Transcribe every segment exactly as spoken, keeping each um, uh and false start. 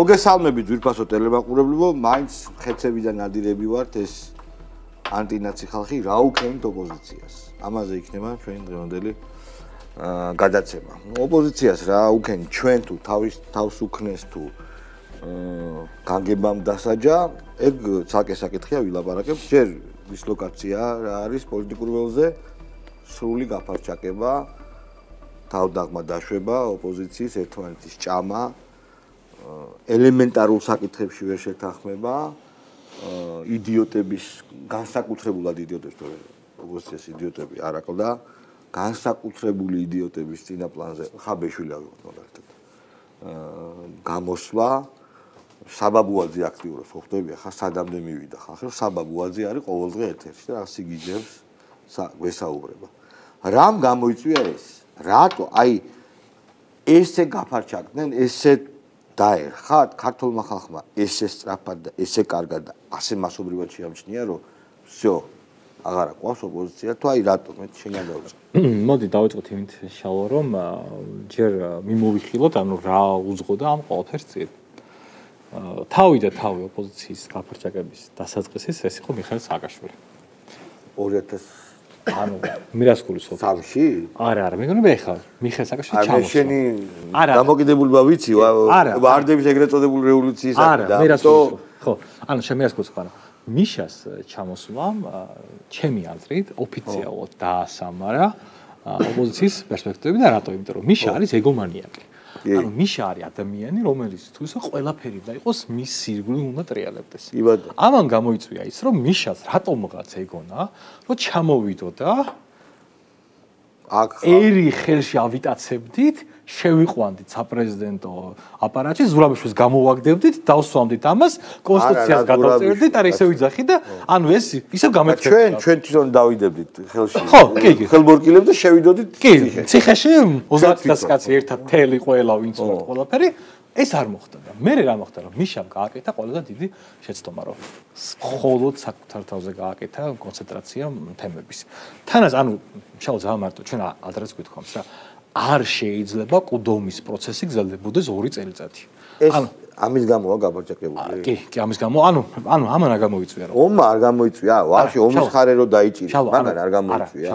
მოგესალმებით ძვირფასო ტელემაყურებლებო, მაინც ხეცებიდან ნადირები ვართ ეს ანტინაცი ხალხი რა უქენით ოპოზიციას. ამაზე იქნება ჩვენი დღევანდელი გადაცემა. ოპოზიციას რა უქენით ჩვენ თუ თავის თავს უქნეს თუ განგებამ დასაჯა, ეგ ცალკე საკითხია ვილაპარაკებ, ჯერ დისლოკაცია რა არის პოლიტიკურ ველზე, სრული გაფარჩაკება, თავდაღმა დაშვება, ოპოზიციის ერთმანეთის ჭამა ელემენტარულ საკითხებში ვერ შეთანხმება, იდიოტების განსაკუთრებულად იდიოტებს თუ ოპოზიციას იდიოტები არ აკლდა, განსაკუთრებული იდიოტების წინაპლანზე ხაბეშვილი ავიღოთ მაგალითად. გამოსვლა საბაბუაძე აქტიურობს, ხო ხტებია, ხა სადამდე მივიდა ხალხი, რომ საბაბუაძე არის ყოველდღე ეთერში და რა სიგიჟებს გვესაუბრება. რამ გამოიწვია ეს? რატო აი ესე გაფარჩაკდნენ, ესე დაერხათ ქართულმა ხალხმა ესე სწრაფად და ესე კარგად და ასე მასობრივად შეამჩნია, რომ всё, აღარა ყავს ოპოზიცია, თუ აი რატო მე შენგან დავიწყე. მოდი დავიწყოთ იმით შალო, რომ ჯერ მიმოვიხილოთ, ანუ რა უძღოდა ამ ყველაფერს წინ. თავი და თავი ოპოზიციის გაფარჩაკების დასაწყისის ეს იყო მიხეილ სააკაშვილი. ორი ათას ანუ მირასკულის სამში? არა, არა, მე მგონი ეხლა მიხეილ სააკაშვილი ჩამოსვა. არა, შენი დამოკიდებულება ვიცი, ვარდების ეგრეთ წოდებული რევოლუციის არა, მირასკულის. ხო, ანუ შენ მირასკულის ხო, ანუ მიშას ჩამოსვლამ ჩემი აზრით ოფიციალურად დაასამარა ოპოზიციის პერსპექტივები და რატო? იმიტომ რომ მიშა არის ეგომანიაკი. ანუ მიშა არის ადამიანი, რომელიც თუ ისე ყველაფერი და იყოს მის სირგლივ უნდა ტრიალებდეს. ამან გამოიწვია ის, რომ მიშას რატომღაც ეგონა, რომ ჩამოვიდო და აქ ერი ხელში ავიტაცებდით, შევიყვანდით საპრეზიდენტო აპარატში, ზურაბიშვილს გამოვაგდებდით, დავსვამდით ამას, კონსტიტუციას გადავწერდით, არა ისე ვიძახი და ანუ ეს ისევ გამეთქვა. ჩვენ ჩვენ თვითონ დავიდებდით ხელში. ხო, კი, კი. ხელბორკილებს და შევიდოდით ციხეში. ციხეში ოცდაათი კაცი ერთად თელი ყველა ვინც უნდა ყველაფერი ეს არ მოხდა და მე რა მოხდა რომ მიშამ გააკეთა ყველაზე დიდი შეცდომა რომ მხოლოდ საკუთარ თავზე გააკეთა კონცენტრაცია თემების. თანაც ანუ შალო ძალიან მარტო ჩვენ ადრეც გვითხოვს რა არ შეიძლება კუდომის პროცესი გრძელდებოდეს ორი წელიწადი. ანუ ამის გამოა გაფარჩაკებული. კი, კი, ამის გამო, ანუ ანუ ამან არ გამოიწვია რა. ომმა არ გამოიწვია, ვაფშე ომის ხარე რო დაიჭირა, მაგან არ გამოიწვია.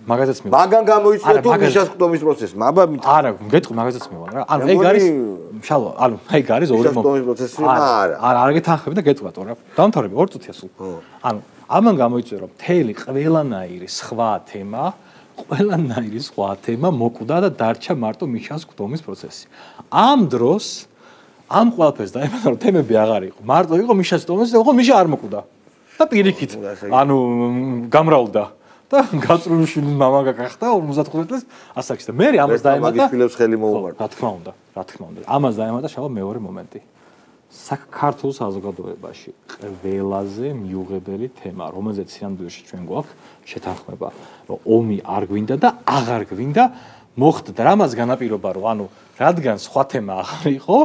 მაგაზეც მე. მაგან გამოიწვია თუ მიშას კუდომის პროცესი, აბა არა, გეტყვი მაგაზეც მე ვარ რა. ანუ ეგ არის შალო, ანუ ეგ არის ორი მიშას კუდომის პროცესი არა. არა, არ გეთანხმები და გეტყვათ რა. დამთავრები ორი წუთია სულ. ანუ ამან გამოიწვია რომ მთელი ყველანაირი სხვა თემა ყველანაირი სხვა თემა მოკვდა და დარჩა მარტო მიშას კუდომის პროცესი. ამ დროს ამ ყველაფერს დაემატა რომ თემები აღარ იყო. მარტო იყო მიშას კუდომის და ხო მიშა არ მოკვდა. და პირიქით ანუ გამრავლდა და გაწრულიშვილის მამა გახდა ორმოცდახუთი წელს ასაკში და მე ამას დაემატა მაგის ფილებს ხელი მოუმართა. რა თქმა უნდა, რა თქმა უნდა. ამას დაემატა შალო მეორე მომენტი. საქართველოს საზოგადოებაში ყველაზე მიუღებელი თემა, რომელზეც სინამდვილეში ჩვენ გვაქვს შეთანხმება, რომ ომი არ გვინდა და აღარ გვინდა მოხდა და რამაც განაპირობა, რომ ანუ რადგან სხვა თემა აღარ იყო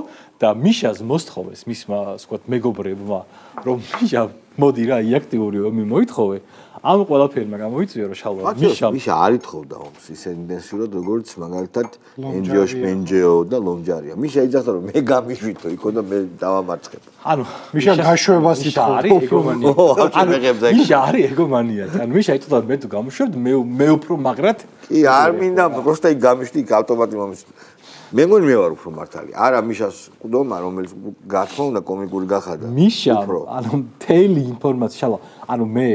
და მიშას მოსთხოვეს მისმა, ასე ვთქვათ, მეგობრებმა, რომ მიშა მოდი რა აქტიური ომი მოითხოვე, ამ ყველაფერმა გამოიწვია რომ შალვა მიშა მიშა არ ითხოვდა ომს ისე ინტენსიურად როგორც მაგალითად ენჯიოშ პენჯეო და ლომჯარია. მიშა იძახდა რომ მე გამიშვითო იქო და მე დავამარცხებ. ანუ მიშა გაშვებას ითხოვდა არის ეგომანია. ანუ მიშა არის ეგომანია. ანუ მიშა იტყოდა მე თუ გამოშვებ მე მე უფრო მაგრად კი არ მინდა პროსტა იქ გამიშდი იქ ავტომატი მომის მე მგონი მე ვარ უფრო მართალი. არა მიშას კუდომა რომელიც გათქმა უნდა კომიკური გახადა. მიშა ანუ მთელი ინფორმაცია შალო ანუ მე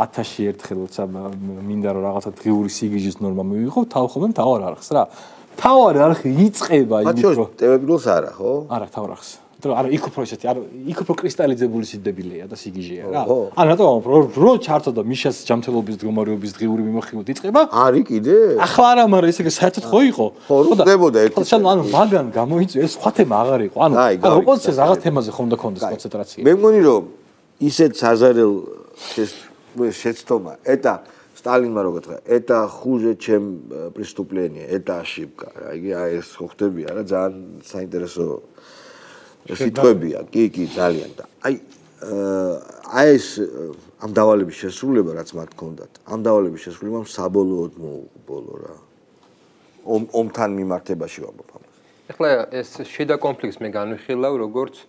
ათასში ერთხელ როცა მინდა რომ რაღაცა დღიური სიგიჟის ნორმა მივიღო, თავხობენ თავარ არხს რა. თავარ არხი იწყება იმით რომ ტელევიზორს არა, ხო? არა, თავარ არხს. იმიტომ არა იქ უფრო ესეთი, არა იქ უფრო კრისტალიზებული სიდებილია და სიგიჟეა რა. ანუ რატომ რო ჩართო და მიშას ჯანმრთელობის მდგომარეობის დღიური მიმოხილვით იწყება? არის კიდე? ახლა არა, მაგრამ ესე საერთოდ ხო იყო? ხო, ხდებოდა ერთი. ხო, ანუ მაგან გამოიწვია ეს სხვა თემა აღარ იყო. ანუ ოპოზიციას რაღაც თემაზე ხომ და კონდეს კონცენტრაცია. მე მგონი რომ ისეთ საზარელ შეცდომა, это Сталинმა რო გეთქვა, это хуже, чем преступление, это ошибка. რა იგი აი ეს ხო ხდებია რა, ძალიან საინტერესო სიტყვებია, კი, კი, ძალიან და აი აი ეს ამ დავალების შესრულება რაც მათ ჰქონდათ, ამ დავალების შესრულებამ საბოლოოდ მოუყო ბოლო რა. ომთან მიმართებაში ვამბობ ამას. ეხლა ეს შიდა კონფლიქტს მე განვიხილავ როგორც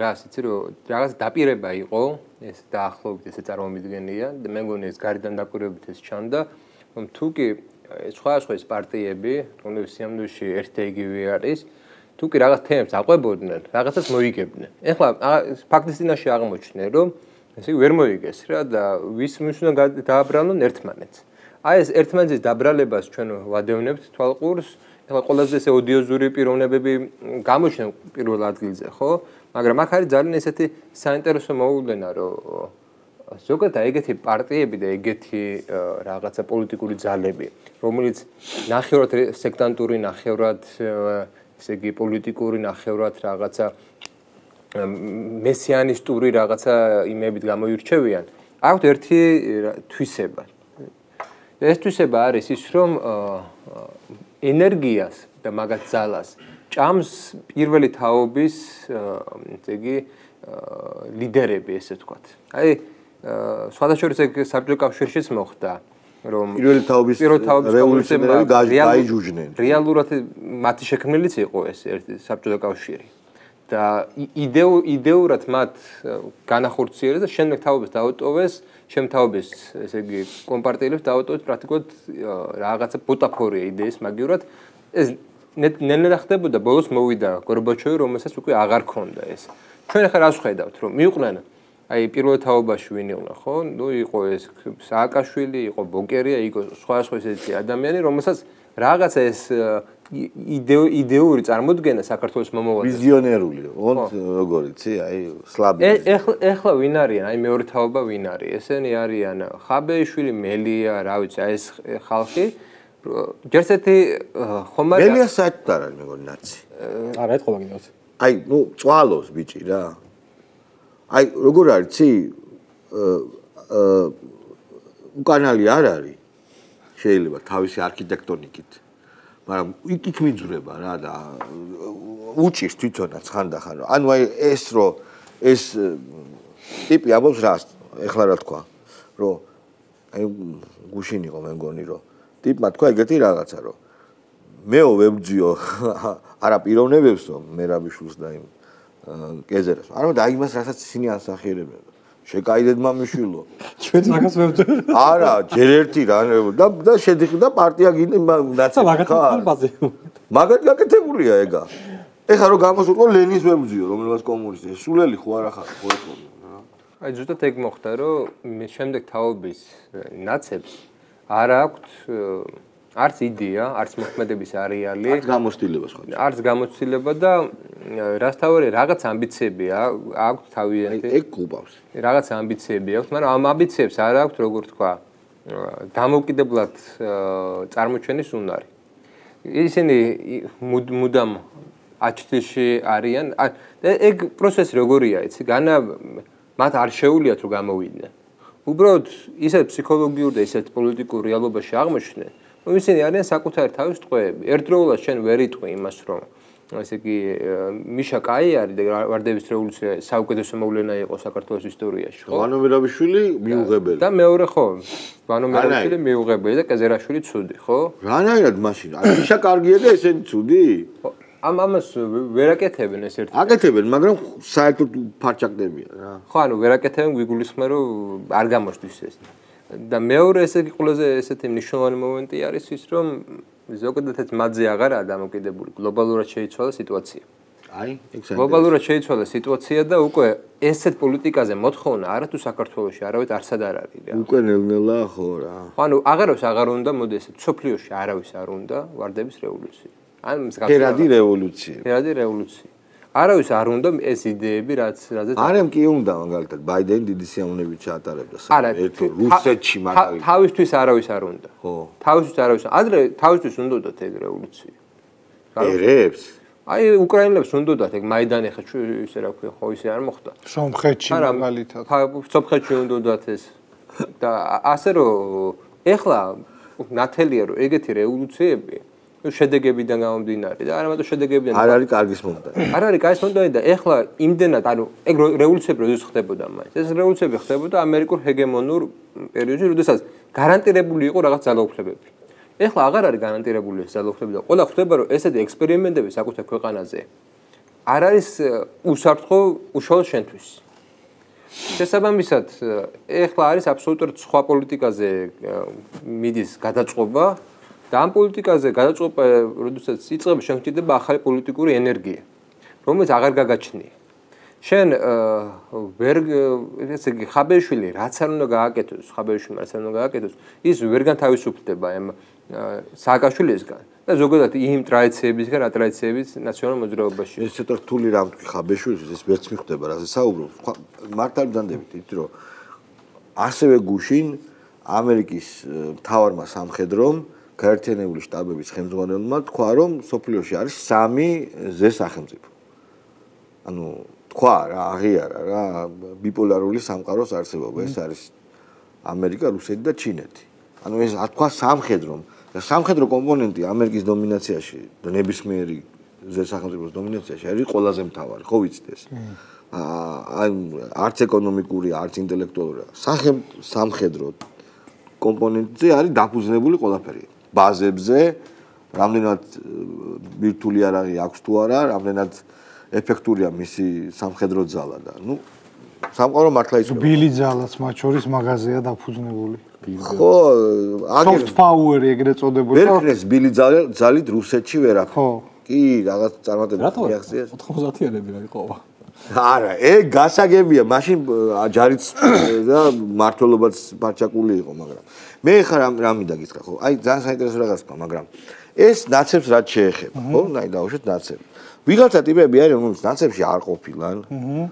რას იცი რომ რაღაც დაპირება იყო ეს დაახლოებით ესე წარმომიდგენია და მე მგონი ეს გარიდან დაკვირვებით ეს ჩანდა რომ თუ კი სხვა სხვა ეს პარტიები რომლებიც სიამოვნებაში ერთ და იგივე არის თუ კი რაღაც თემებს აყვებოდნენ რაღაცას მოიგებდნენ ეხლა ფაქტის წინაშე აღმოჩნდნენ რომ ესე ვერ მოიგეს რა და ვის ვის უნდა დააბრალონ ერთმანეთს აი ეს ერთმანეთის დაბრალებას ჩვენ ვადევნებთ თვალყურს ეხლა ყველაზე ესე ოდიოზური პიროვნებები გამოჩნდნენ პირველ ადგილზე ხო მაგრამ აქ არის ძალიან ესეთი საინტერესო მოვლენა რომ ზოგადად ეგეთი პარტიები და ეგეთი რაღაცა პოლიტიკური ძალები რომელიც ნახევრად სექტანტური ნახევრად ესე იგი პოლიტიკური ნახევრად რაღაცა მესიანისტური რაღაცა იმებით გამოირჩევიან აქვთ ერთი თვისება ეს თვისება არის ის რომ ენერგიას და მაგათ ძალას ჭამს პირველი თაობის ესე იგი ლიდერები ესე ვთქვათ აი სხვადასხვა ეგ საბჭოთა კავშირშიც მოხდა რომ პირველი თაობის რევოლუციონერები გაიჯუჯნენ რეალურად მათი შექმნილიც იყო ეს ერთი საბჭოთა კავშირი და იდეურად მათ განახორციელეს და შემდეგ თაობას დაუტოვეს შემთაობის ესე იგი კომპარტიელებს დაუტოვეს პრაქტიკულად რაღაცა ბუტაფორია იდეის მაგივრად ეს ნელ-ნელა ხდებოდა ბოლოს მოვიდა გორბაჩოვი რომელსაც უკვე აღარ ქონდა ეს ჩვენ ახლა რას ხედავთ რომ მიუყვნენ აი პირველ თაობაში ვინ იყო ხო ნუ იყო ეს სააკაშვილი იყო ბოკერია იყო სხვა სხვა ესეთი ადამიანი რომელსაც რაღაცა ეს იდეური წარმოდგენა საქართველოს მომავალზე ვიზიონერული ოღონდ როგორ იცი აი სლაბი ეხლა ეხლა ვინ არიან აი მეორე თაობა ვინ არის ესენი არიან ხაბეიშვილი მელია რა ვიცი აი ეს ხალხი ჯერსეთი ხომ არა მელია საერთოდ არ არის მეგონი ნაცი არა ეთქობა კიდევ აი ნუ წვალოს ბიჭი რა აი როგორ არის ცი უკანალი არ არის შეიძლება თავისი არქიტექტონიკით მაგრამ იქ მიძვრება რა და უჭირს თვითონაც ხანდახან ანუ აი ეს რო ეს ტიპი ამბობს რას ეხლა რა თქვა რომ აი გუშინ იყო მე მგონი რომ ტიპმა თქვა ეგეთი რაღაცა რომ მეო ვებძიო არა პიროვნებებსო მერაბიშვილს და იმ კეზერას არა და იმას რასაც ისინი ასახიერებენ შეკაიდეთ მამიშვილო ჩვენ მაგას ვებძვით არა ჯერ ერთი რა და და შედიხდა პარტია ნაცი მაგათი მაგათ გაკეთებულია ეგა ეხლა რომ გამოსულყო ლენის ვებძიო რომელსაც კომუნისტი სულელი ხო არა ხარ ხო ეთქო აი ზუსტად ეგ მოხდა რომ შემდეგ თაობის ნაცებს არ აქვთ არც იდეა, არც მოქმედების არეალი, არც გამოცდილება სხვა. არც გამოცდილება და რასთავარი რაღაც ამბიციები აქვს თავიანთი. ეგ გუბავს. რაღაც ამბიციები აქვს, მაგრამ ამ ამბიციებს არ აქვს, როგორ თქვა, დამოუკიდებლად წარმოჩენის უნარი. ისინი მუდამ აჩთილში არიან. ეგ პროცესი როგორია, იცი? განა მათ არ შეუულიათ რომ გამოვიდნენ. უბრალოდ ისეთ ფსიქოლოგიურ და ისეთ პოლიტიკურ რეალობაში აღმოჩნდნენ. ისინი არიან საკუთარი თავის ტყვეები. ერთდროულად შენ ვერ იტყვი იმას, რომ ესე იგი მიშა კაი არის და ვარდების რევოლუცია საუკეთესო მოვლენა იყო საქართველოს ისტორიაში, ხო? ვანო მერაბიშვილი მიუღებელი. და მეორე ხო, ვანო მერაბიშვილი მიუღებელი და კეზერაშვილი ცუდი, ხო? რანაირად მაშინ? მიშა კარგია და ესენი ცუდი? ამ ამას ვერ აკეთებენ ეს ერთი. აკეთებენ, მაგრამ საერთოდ ფარჩაკდებიან რა. ხო, ანუ ვერ აკეთებენ, გვიგულისხმენ რომ არ გამოჩნდეს ეს. და მეორე ესე იგი ყველაზე ესეთი მნიშვნელოვანი მომენტი არის ის რომ ზოგადადაც მათზე აღარაა დამოკიდებული გლობალურად შეიცვალა სიტუაცია. აი, ეგ საერთოდ გლობალურად შეიცვალა სიტუაცია და უკვე ესეთ პოლიტიკაზე მოთხოვნა არა თუ საქართველოში არავით არსად არ არის რა. უკვე ნელ-ნელა ხო რა. ანუ აღარავს აღარ უნდა მოდი ესეთ სოფლიოში არავის არ უნდა ვარდების რევოლუცია. ან ფერადი რევოლუცია. ფერადი რევოლუცია. არავის არ უნდა ეს იდეები რაც რაზეც არემ კი უნდა მაგალითად ბაიდენი დიდი სიამოვნებით ჩაატარებდა საერთოდ რუსეთში მაგალითად თავისთვის არავის არ უნდა ხო თავისთვის არავის ადრე თავისთვის უნდათ ეგ რევოლუცია ერებს აი უკრაინელებს უნდათ ეგ მაიდანი ხა ისე რა ქვია ხო ისე არ მოხდა სომხეთში მაგალითად სომხეთში უნდათ ეს და ასე რომ ეხლა ნათელია რომ ეგეთი რევოლუციები შედეგებიდან გამომდინარე და არა მარტო შედეგებიდან არ არის კარგის მომდანი. არ არის კარგის მომდანი და ეხლა იმდენად ანუ ეგ რევოლუციები როდესაც ხდებოდა მაინც. ეს რევოლუციები ხდებოდა ამერიკულ ჰეგემონურ პერიოდში, როდესაც გარანტირებული იყო რაღაც ძალაუფლებები. ეხლა აღარ არის გარანტირებული ეს ძალაუფლება და ყველა ხვდება რომ ესეთი ექსპერიმენტები საკუთარ ქვეყანაზე არ არის უსაფრთხო უშუალოდ შენთვის. შესაბამისად, ეხლა არის აბსოლუტურად სხვა პოლიტიკაზე მიდის გადაწყობა და ამ პოლიტიკაზე გადაწყობა, როდესაც იწყება, შენ გჭირდება ახალი პოლიტიკური ენერგია, რომელიც აღარ გაგაჩნია. შენ ვერ ესე იგი ხაბეშვილი რაც არ უნდა გააკეთოს, ხაბეშვილი რაც არ უნდა გააკეთოს, ის ვერ განთავისუფლდება ამ სააკაშვილისგან და ზოგადად იმ ტრადიციებისგან, რა ტრადიციებიც ნაციონალურ მოძრაობაში. ეს ცოტა რთული რამ თქვი ხაბეშვილის, ეს ვერც მიხვდება, რაზე საუბრობ. მართალი ბრძანდებით, იმიტომ რომ ასევე გუშინ ამერიკის მთავარმა სამხედრომ გაერთიანებული შტაბების ხელმძღვანელმა თქვა, რომ სოფლიოში არის სამი ზე სახელმწიფო. ანუ თქვა რა, აღიარა რა, ბიპოლარული სამყაროს არსებობა, ეს არის ამერიკა, რუსეთი და ჩინეთი. ანუ ეს თქვა სამხედრომ და სამხედრო კომპონენტი ამერიკის დომინაციაში და ნებისმიერი ზესახელმწიფოს დომინაციაში არის ყველაზე მთავარი, ხო ვიცით ეს? აა არც ეკონომიკური, არც ინტელექტუალური, სამხედრო კომპონენტზე არის დაფუძნებული ყველაფერი. ბაზებზე, რამდენად ბირთვული არაღი აქვს თუ არა, რამდენად ეფექტურია მისი სამხედრო ძალა და ნუ სამყარო მართლა იცოდა. ბილი ძალაც მათ შორის მაღაზია დაფუძნებული. ხო, soft power ეგრეთ წოდებული. ვერ ქნეს ბილი ძალით რუსეთში ვერაფერი. ხო. კი, რაღაც წარმატებები მიაღწიეს. ოთხმოცდაათიანები რა იყო? არა, ეგ გასაგებია, მაშინ ჯარიც და მართლობაც პარჩაკული იყო, მაგრამ მე ხა რა მინდა გითხრა, ხო? აი ძალიან საინტერესო რაღაც თქვა, მაგრამ ეს ნაცებს რაც შეეხება, ხო? ნაი დავუშვათ ნაცები. ვიღაცა ტიპები არის, რომელიც ნაცებში არ ყოფილან. აჰა.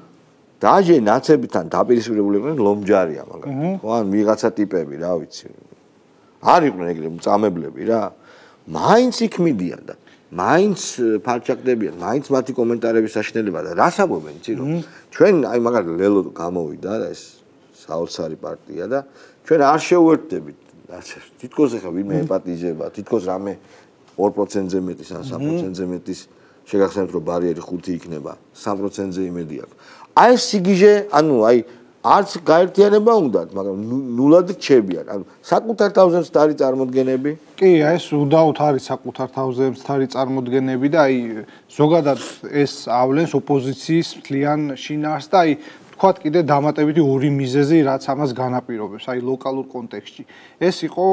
დაჟე ნაცებთან დაპირისპირებულები ლომჯარია, მაგრამ ხო, ან ვიღაცა ტიპები, რა ვიცი. არ იყვნენ ეგრე მწამებლები რა. მაინც იქ მიდიან და მაინც ფარჩაკდებიან, მაინც მათი კომენტარების საშინელება და რას ამბობენ, იცი რომ ჩვენ აი მაგალითად ლელო გამოვიდა და ეს საოცარი პარტია და ჩვენ არ შევერთდებით ნაცებს. თითქოს ახლა ვინმე ემპათიზება, თითქოს რამე ორ პროცენტზე მეტის ან სამ პროცენტზე მეტის შეგახსენებთ რომ ბარიერი ხუთი იქნება, სამ პროცენტზე იმედი აქვს. აი ეს სიგიჟე, ანუ აი არც გაერთიანება უნდათ, მაგრამ ნულად რჩებიან. ანუ საკუთარ თავზე მცდარი წარმოდგენები. კი, აი ეს უდაოდ არის საკუთარ თავზე მცდარი წარმოდგენები და აი ზოგადად ეს ავლენს ოპოზიციის მთლიან შინაარსს და აი თქვათ კიდე დამატებითი ორი მიზეზი, რაც ამას განაპირობებს, აი ლოკალურ კონტექსტში. ეს იყო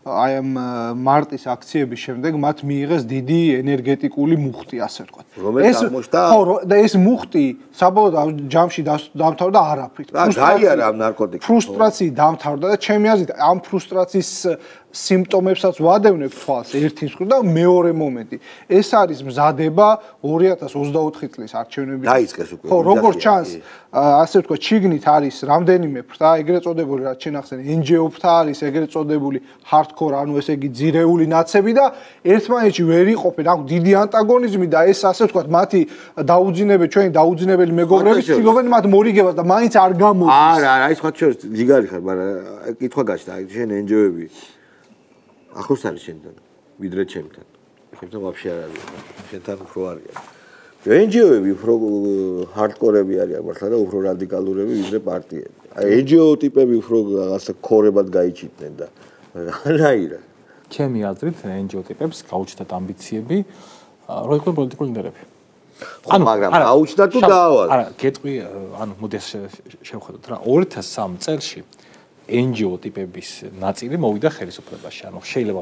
აი ამ მარტის აქციების შემდეგ მათ მიიღეს დიდი ენერგეტიკული მუხტი, ასე ვთქვათ. რომელიც აღმოჩნდა ხო, და ეს მუხტი საბოლოო ჯამში დამთავრდა არაფრით. გაიარა ამ ნარკოტიკს. ფრუსტრაციით დამთავრდა და ჩემი აზრით ამ ფრუსტრაციის სიმპტომებსაც ვადევნებ თვალს ერთი მხრივ და მეორე მომენტი. ეს არის მზადება ორი ათას ოცდაოთხი წლის არჩევნების. დაიწყეს უკვე. ხო, როგორც ჩანს, ასე ვთქვათ, ჩიგნით არის რამდენიმე ფრთა, ეგრეთ წოდებული, რაც შენ ახსენე, ენ ჯი ო ფრთა არის, ეგრეთ წოდებული hardcore, ანუ ესე იგი ძირეული ნაცები და ერთმანეთში ვერ იყოფენ, აქვს დიდი ანტაგონიზმი და ეს ასე ვთქვათ, მათი დაუძინებელი, ჩვენი დაუძინებელი მეგობრები ცდილობენ მათ მორიგებას და მაინც არ გამოდის. არა, არა, აი სხვა შორის ზიგარი ხარ, მაგრამ კითხვა გაჩნდა, აი შენ ენ ჯი ო-ები ახლოს არის შენთან, ვიდრე ჩემთან. ჩემთან ვაფშე არ არის, შენთან უფრო არიან. ენ ჯი ო-ები უფრო hardcore-ები არიან მართლა და უფრო რადიკალურები ვიდრე პარტიები. აი ენ ჯი ო ტიპები უფრო რაღაცა ქორებად გაიჩიტნენ და რანაირა. ჩემი აზრით ენ ჯი ო ტიპებს გაუჩნდათ ამბიციები, რომ იყვნენ პოლიტიკური ლიდერები. ანუ მაგრამ აუჩნდა თუ დაავალ. არა, გეტყვი, ანუ მოდი შევხედოთ რა, ორი ათას სამი წელში ენ ჯი ო ტიპების ნაწილი მოვიდა ხელისუფლებაში. ანუ შეიძლება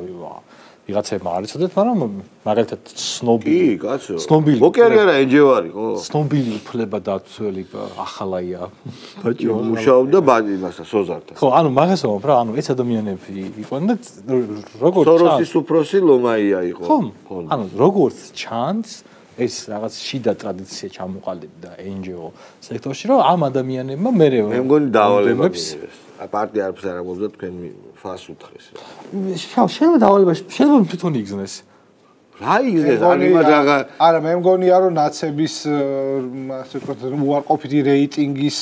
ვიღაცებმა არ იცოდეთ, მაგრამ მაგალითად ცნობილი. კი, კაცო. ცნობილი. მოკერი არა ენ ჯი ო არის, ხო? ცნობილი უფლება დაცველი ახალაია ბაჭი მუშაობდა იმასა სოზართან. ხო, ანუ მაგას ვამბობ რა, ანუ ეს ადამიანები იყვნენ და როგორც სოროსის უფროსი ლომაია იყო. ხო, ანუ როგორც ჩანს ეს რაღაც შიდა ტრადიცია ჩამოყალიბდა ენ ჯი ო სექტორში, რომ ამ ადამიანებმა მე მე მგონი დავალება მიიღეს. პარტია არც არ ამბობდა თქვენ ფას უთხრეს. შეიძლება დავალება შეიძლება თვითონ იგზნეს. რა იგზნეს? ანიმად რაღა არა, მე მგონია რომ ნაცების ასე ვთქვათ უარყოფითი რეიტინგის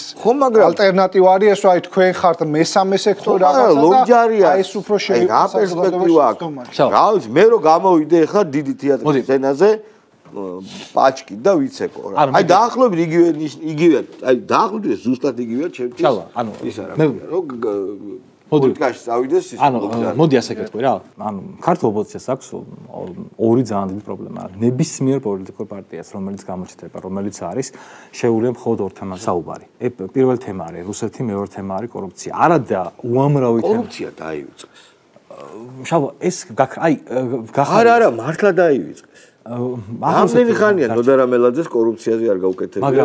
ალტერნატივა არის ეს, აი თქვენ ხართ მესამე სექტორი რაღაცა და აი ეს უფრო შეიძლება პერსპექტივა აქვს. რა ვიცი, მე რო გამოვიდე ხა დიდი თეატრის სცენაზე პაჩკი და ვიცეკო რა. აი დაახლოებით იგივე იგივე, აი დაახლოებით ზუსტად იგივეა ჩემთვის. ჩავა, ანუ ის არა. მე რომ პოლიტიკაში წავიდეს ის. ანუ მოდი ასე გეტყვი რა. ანუ ქართულ ოპოზიციას აქვს ორი ძალიან დიდი პრობლემა. ნებისმიერ პოლიტიკურ პარტიას, რომელიც გამოჩნდება, რომელიც არის შეუძლია მხოლოდ ორ თემაზე საუბარი. პირველი თემა არის რუსეთი, მეორე თემა არის კორუფცია. არა და უამრავი თემა. კორუფცია დაივიწყეს. შავ ეს აი გახარ არა არა მართლა დაივიწყეს. ამდენი ხანია ნოდარ ამელაძეს კორუფციაზე არ გაუკეთებია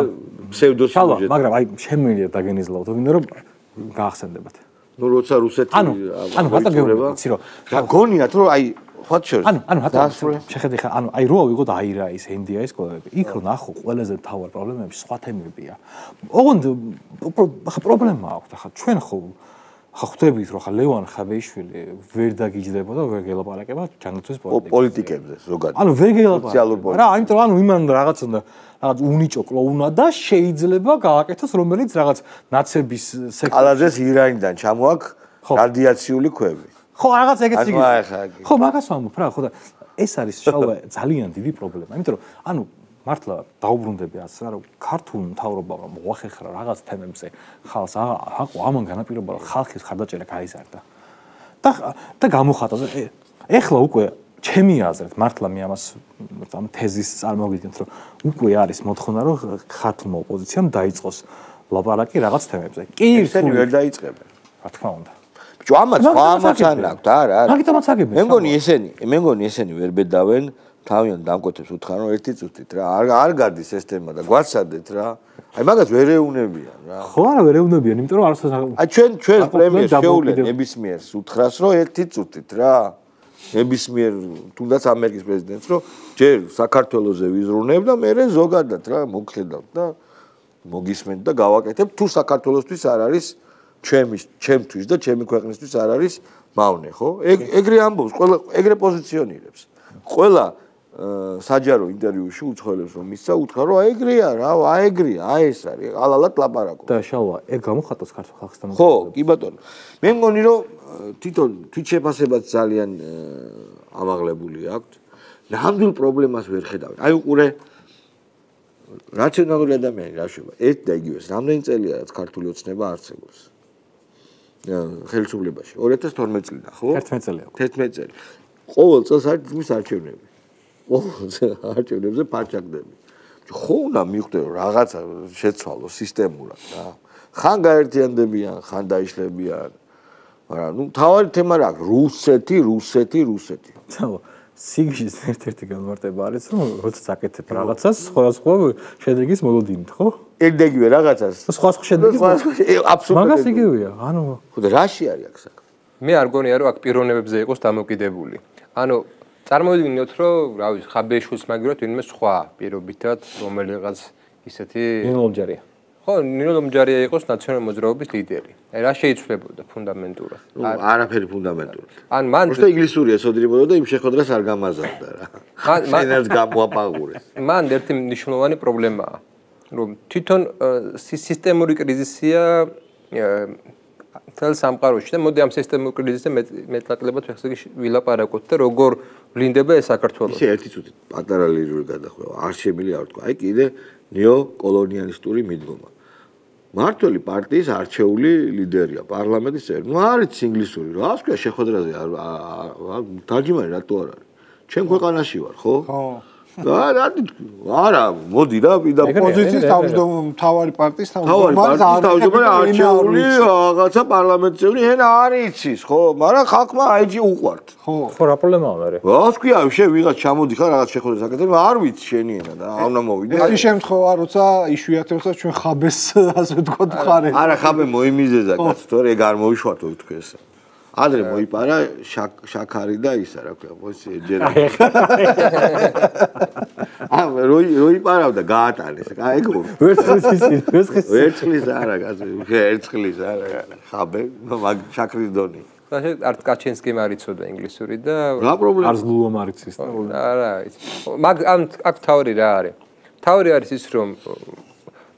ფსევდოსიუჟეტი. მაგრამ აი შემიძლია დაგენიზლავთ, ვინდა რომ გაახსენდებათ. ნუ როცა რუსეთი ანუ ანუ რატო გეუბნები რომ რა გონიათ რომ აი what shows ანუ ანუ რატო შეხედე ხა ანუ აი როა ვიღოთ აირაის ენდიაის კოლები იქ რო ნახო ყველაზე მთავარ პრობლემები სხვა თემებია ოღონდ ხა პრობლემა აქვს ხა ჩვენ ხო ხა ხვდებით რომ ხა ლევან ხაბეიშვილი ვერ დაგიჯდება და ვერ გელაპარაკება ჯანმრთელობის პოლიტიკებზე ზოგადად ანუ ვერ გელაპარაკება რა ამიტომ ანუ იმან რაღაც უნდა რაღაც უნიჭო კლოუნა და შეიძლება გააკეთოს რომელიც რაღაც ნაცების სექტორში კალაძეს ირანიდან ჩამოაქვს რადიაციული ქვები ხო რაღაც ეგეთი ხო მაგას ვამბობ რა ხო და ეს არის შავა ძალიან დიდი პრობლემა იმიტომ რომ ანუ მართლა დაუბრუნდები ასე რა რომ ქართულ მთავრობამ მოახერხა რაღაც თემებზე ხალხს აყო ამან განაპირობა რომ ხალხის ხარდაჭერა გაიზარდა და და გამოხატა ეხლა უკვე ჩემი აზრით მართლა მე ამას ამ თეზის წარმოვიდგენთ რომ უკვე არის მოთხოვნა რომ ქართულმა ოპოზიციამ დაიწყოს ლაპარაკი რაღაც თემებზე კი ისინი ვერ დაიწყებენ რა თქმა უნდა ბიჭო ამას ამას არ აქვს არა არა მაგიტომაც აგებენ მე მგონი ესენი მე მგონი ესენი ვერ ბედავენ თავიანთ დამკვეთებს უთხრან რომ ერთი წუთით რა არ არ გადის ეს თემა და გვაცადეთ რა აი მაგას ვერ ეუნებიან რა ხო არა ვერ ეუნებიან იმიტომ რომ არასდროს აი ჩვენ ჩვენ პრემიერს შეუვლენ ნებისმიერს უთხრას რომ ერთი წუთით რა ნებისმიერ თუნდაც ამერიკის პრეზიდენტს რომ ჯერ საქართველოზე ვიზრუნებ და მე ზოგადად რა მოგხედავთ და მოგისმენთ და გავაკეთებ თუ საქართველოსთვის არ არის ჩემი ჩემთვის და ჩემი ქვეყნისთვის არ არის მავნე ხო ეგრე ამბობს ყველა ეგრე პოზიციონირებს ყველა საჯარო ინტერვიუში უცხოელებს რომ მისცა უთხრა რომ აი ეგრეა რა აი ეგრეა აი ეს არის ალალად ლაპარაკობს და შალვა ეგ გამოხატოს ქართულ ხალხსთან ხო კი ბატონო მე მგონი რომ თვითონ თვითშეფასებაც ძალიან ამაღლებული აქვს ნამდვილ პრობლემას ვერ ხედავენ აი უყურე რაციონალური ადამიანი რა შევა ერთ და იგივეს რამდენი წელია რაც ქართული ოცნება არსებობს ხელისუფლებაში ორი ათას თორმეტი წლიდან ხო ერთმეტი წელია თერთმეტი წელი ყოველ წელს არის თითქმის არჩევნები ყოველ არჩევნებზე ფარჩაკდები ხო უნდა მიხვდე რომ რაღაცა შეცვალო სისტემურად რა ხან გაერთიანდებიან ხან დაიშლებიან მაგრამ ნუ თავარი თემა რა რუსეთი რუსეთი რუსეთი ცალო სიგჟის ერთ-ერთი განმარტება არის რომ როცა აკეთებ რაღაცას სხვა სხვა შედეგის მოლოდინით ხო ეგ-ეგივე რაღაცას სხვა სხვა შედეგის აბსოლუტურად მაგას იგივეა ანუ ხო და რაში არის აქ საქმე მე არ გონია რომ აქ პიროვნებებზე იყოს დამოკიდებული ანუ წარმოვიდგინოთ რომ რა ვიცი ხაბეიშვილს მაგივრად ვინმე სხვა პირობითად რომელიღაც ისეთი ნინოლომჯარია ხო ნინოლომჯარია იყოს ნაციონალური მოძრაობის ლიდერი აი რა შეიცვლებოდა ფუნდამენტურად არაფერი ფუნდამენტურად ან მან უბრალოდ ინგლისურია სოდრიბოდა და იმ შეხვედრას არ გამაზარდა რა მან ენერგს გამოაპაღურეს მან ერთი მნიშვნელოვანი პრობლემაა რომ თვითონ სისტემური კრიზისია თელ სამყაროში და მოდი ამ სისტემურ კრიზისზე მეტნაკლებად ხსეგი ვილაპარაკოთ და როგორ ვლინდება ეს საქართველოს ისე ერთი წუთი პატარა ლირული გადახვევა არ შემიძლია არ თქვა აი კიდე ნეოკოლონიალისტური მიდგომა მართველი პარტიის არჩეული ლიდერია პარლამენტის წევრი ნუ არის ინგლისური რა ასქვია შეხვედრაზე თარჯიმანი რატო არ არის ჩემ ქვეყანაში ვარ ხო ხო არა არა მოდი რა ვიდა პოზიციის თავმჯდომარე პარტიის თავმჯდომარე თავმჯდომარე არჩეული რაღაცა პარლამენტის წევრი ენა არ იცის ხო მაგრამ ხალხმა აიჯი უყვართ ხო ხო რა პრობლემაა მე რა ასქვია შე ვიღაც ჩამოდი ხარ რაღაც შეხვედრას აკეთებ არ ვიცი შენი ენა და აუნა მოვიდე ეს შემთხვევა როცა იშვიათებსა ჩვენ ხაბეს ასე ვთქვათ ხარეთ არა ხაბე მოიმიზეზა კაცო თორე ეგ არ მოიშვათო თქვი ესა ადრე მოიპარა შაქარი და ისა რა ქვია მოსი ეჯერა აა როი როი პარავდა გაატანეს აი ეგ ვერცხლის ისი ვერცხლის ვერცხლის არა კაცო ვერცხლის არა ხაბე მაგ შაქრის დონი არ კაჩენსკიმ არიცოდა ინგლისური და რა პრობლემა არც ლულომ არიცის არა მაგ ამ აქ თავი რა არის თავი არის ის რომ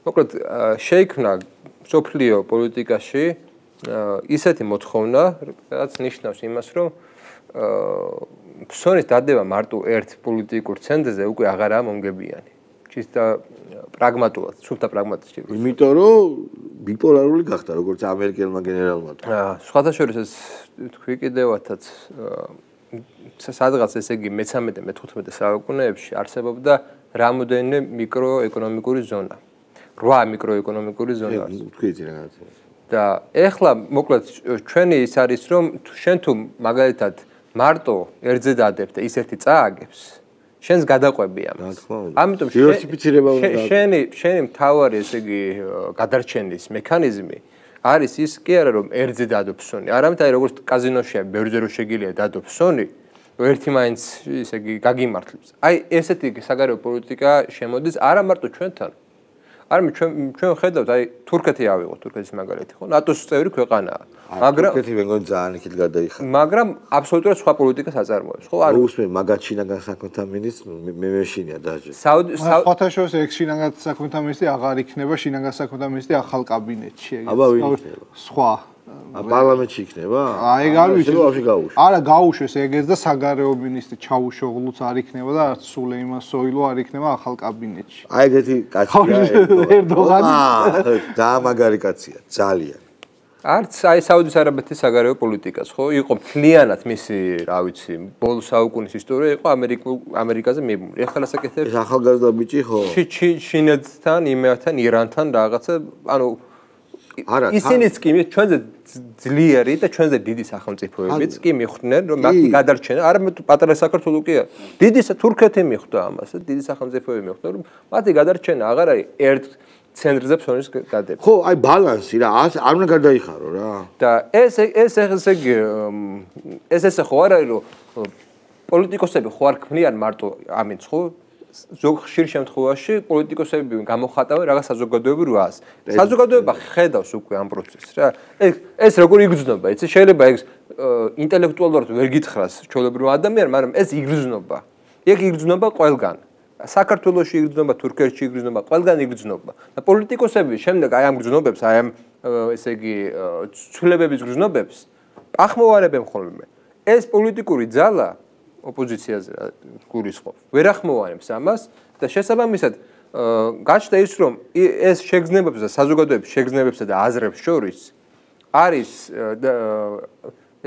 მოკლედ შეიქმნა სოფლიო პოლიტიკაში ისეთი მოთხოვნა, რაც ნიშნავს იმას, რომ ფსონის დადება მარტო ერთ პოლიტიკურ ცენტრზე უკვე აღარაა მომგებიანი. ჩისტა პრაგმატულად, სულთა პრაგმატისტი. იმიტომ რომ ბიპოლარული გახდა როგორც ამერიკელმა გენერალმა. აა სხვათა შორის ეს თქვი კიდევათაც სადღაც ესე იგი მეთერთმეტე მეთოთხმეტე საუკუნეებში არსებობდა რამოდენიმე მიკროეკონომიკური ზონა. რვა მიკროეკონომიკური ზონა. თქვით რაღაცა. და ეხლა მოკლედ ჩვენი ის არის რომ შენ თუ მაგალითად მარტო ერთზე დადებ და ის ერთი წააგებს შენს გადაყვები ამას. ამიტომ დივერსიფიცირება უნდა შენი შენი მთავარი ესე იგი გადარჩენის მექანიზმი არის ის კი არა რომ ერთზე დადო ფსონი, არამედ აი როგორც კაზინოშია ბევრზე რო შეგიძლია დადო ფსონი, ერთი მაინც ესე იგი გაგიმართლებს. აი ესეთი საგარეო პოლიტიკა შემოდის არა მარტო ჩვენთან. არამედ ჩვენ ჩვენ ხედავთ აი თურქეთი ავიღოთ, თურქეთის მაგალითი ხო? ნატოს წევრი ქვეყანაა. მაგრამ თურქეთი მეგონი ძალიან იქით გადაიხადა. მაგრამ აბსოლუტურად სხვა პოლიტიკას აწარმოებს, ხო? არ უსმენ მაგათ შინაგან საქმეთა მინისტრს მე მეშინია დაჟე. სხვათა შორის ეგ შინაგან საქმეთა მინისტრი აღარ იქნება, შინაგან საქმეთა მინისტრი ახალ კაბინეტში ეგ. აბა ვინ იქნება? სხვა პარლამენტში იქნება? აი ეგ არ ვიცი. არა, გაუშვეს ეგეც და საგარეო მინისტრი ჩაუშოღლუც არ იქნება და არც სულეიმან სოილო არ იქნება ახალ კაბინეტში. აი ეგეთი კაცია ერდოღანი. და მაგარი კაცია, ძალიან. არც აი საუდის არაბეთის საგარეო პოლიტიკას, ხო? იყო მთლიანად მისი, რა ვიცი, ბოლო საუკუნის ისტორია იყო ამერიკულ ამერიკაზე მიბმული. ეხლა რასაკეთებს? ეს ახალგაზრდა ბიჭი ხო? ჩინეთთან, იმერთან, ირანთან რაღაცა, ანუ არა, ისინიც კი ჩვენზე ძლიერი და ჩვენზე დიდი სახელმწიფოებიც კი მიხვდნენ, რომ მათი გადარჩენა, არამედ პატარა საქართველო კი არა. დიდი თურქეთი მიხვდა ამას, დიდი სახელმწიფოები მიხვდა, რომ მათი გადარჩენა აღარ არის ერთ ცენტრზე ფსონის დადება. ხო, აი ბალანსი რა, არ უნდა გადაიხარო რა. და ეს ეს ესე იგი ეს ესე ხო არ არის, რომ პოლიტიკოსები ხო არ ქმნიან მარტო ამინც ხო? ზოგ ხშირ შემთხვევაში პოლიტიკოსები გამოხატავენ რაღაც საზოგადოებრივ რას. საზოგადოება ხედავს უკვე ამ პროცესს რა. ეს ეს როგორ იგრძნობა, იცი? შეიძლება ეს ინტელექტუალურად ვერ გითხრას ჩვეულებრივ ადამიანს, მაგრამ ეს იგრძნობა. ეგ იგრძნობა ყველგან. საქართველოში იგრძნობა, თურქეთში იგრძნობა, ყველგან იგრძნობა. და პოლიტიკოსები შემდეგ აი ამ გრძნობებს, აი ამ ესე იგი ცვლილებების გრძნობებს ახმოვანებენ ხოლმე. ეს პოლიტიკური ძალა ოპოზიციაზე გულისხმობს. ვერ ახმოვანებს ამას და შესაბამისად გაჩნდა ის რომ ეს შეგრძნებებს და საზოგადოების შეგრძნებებსა და აზრებს შორის არის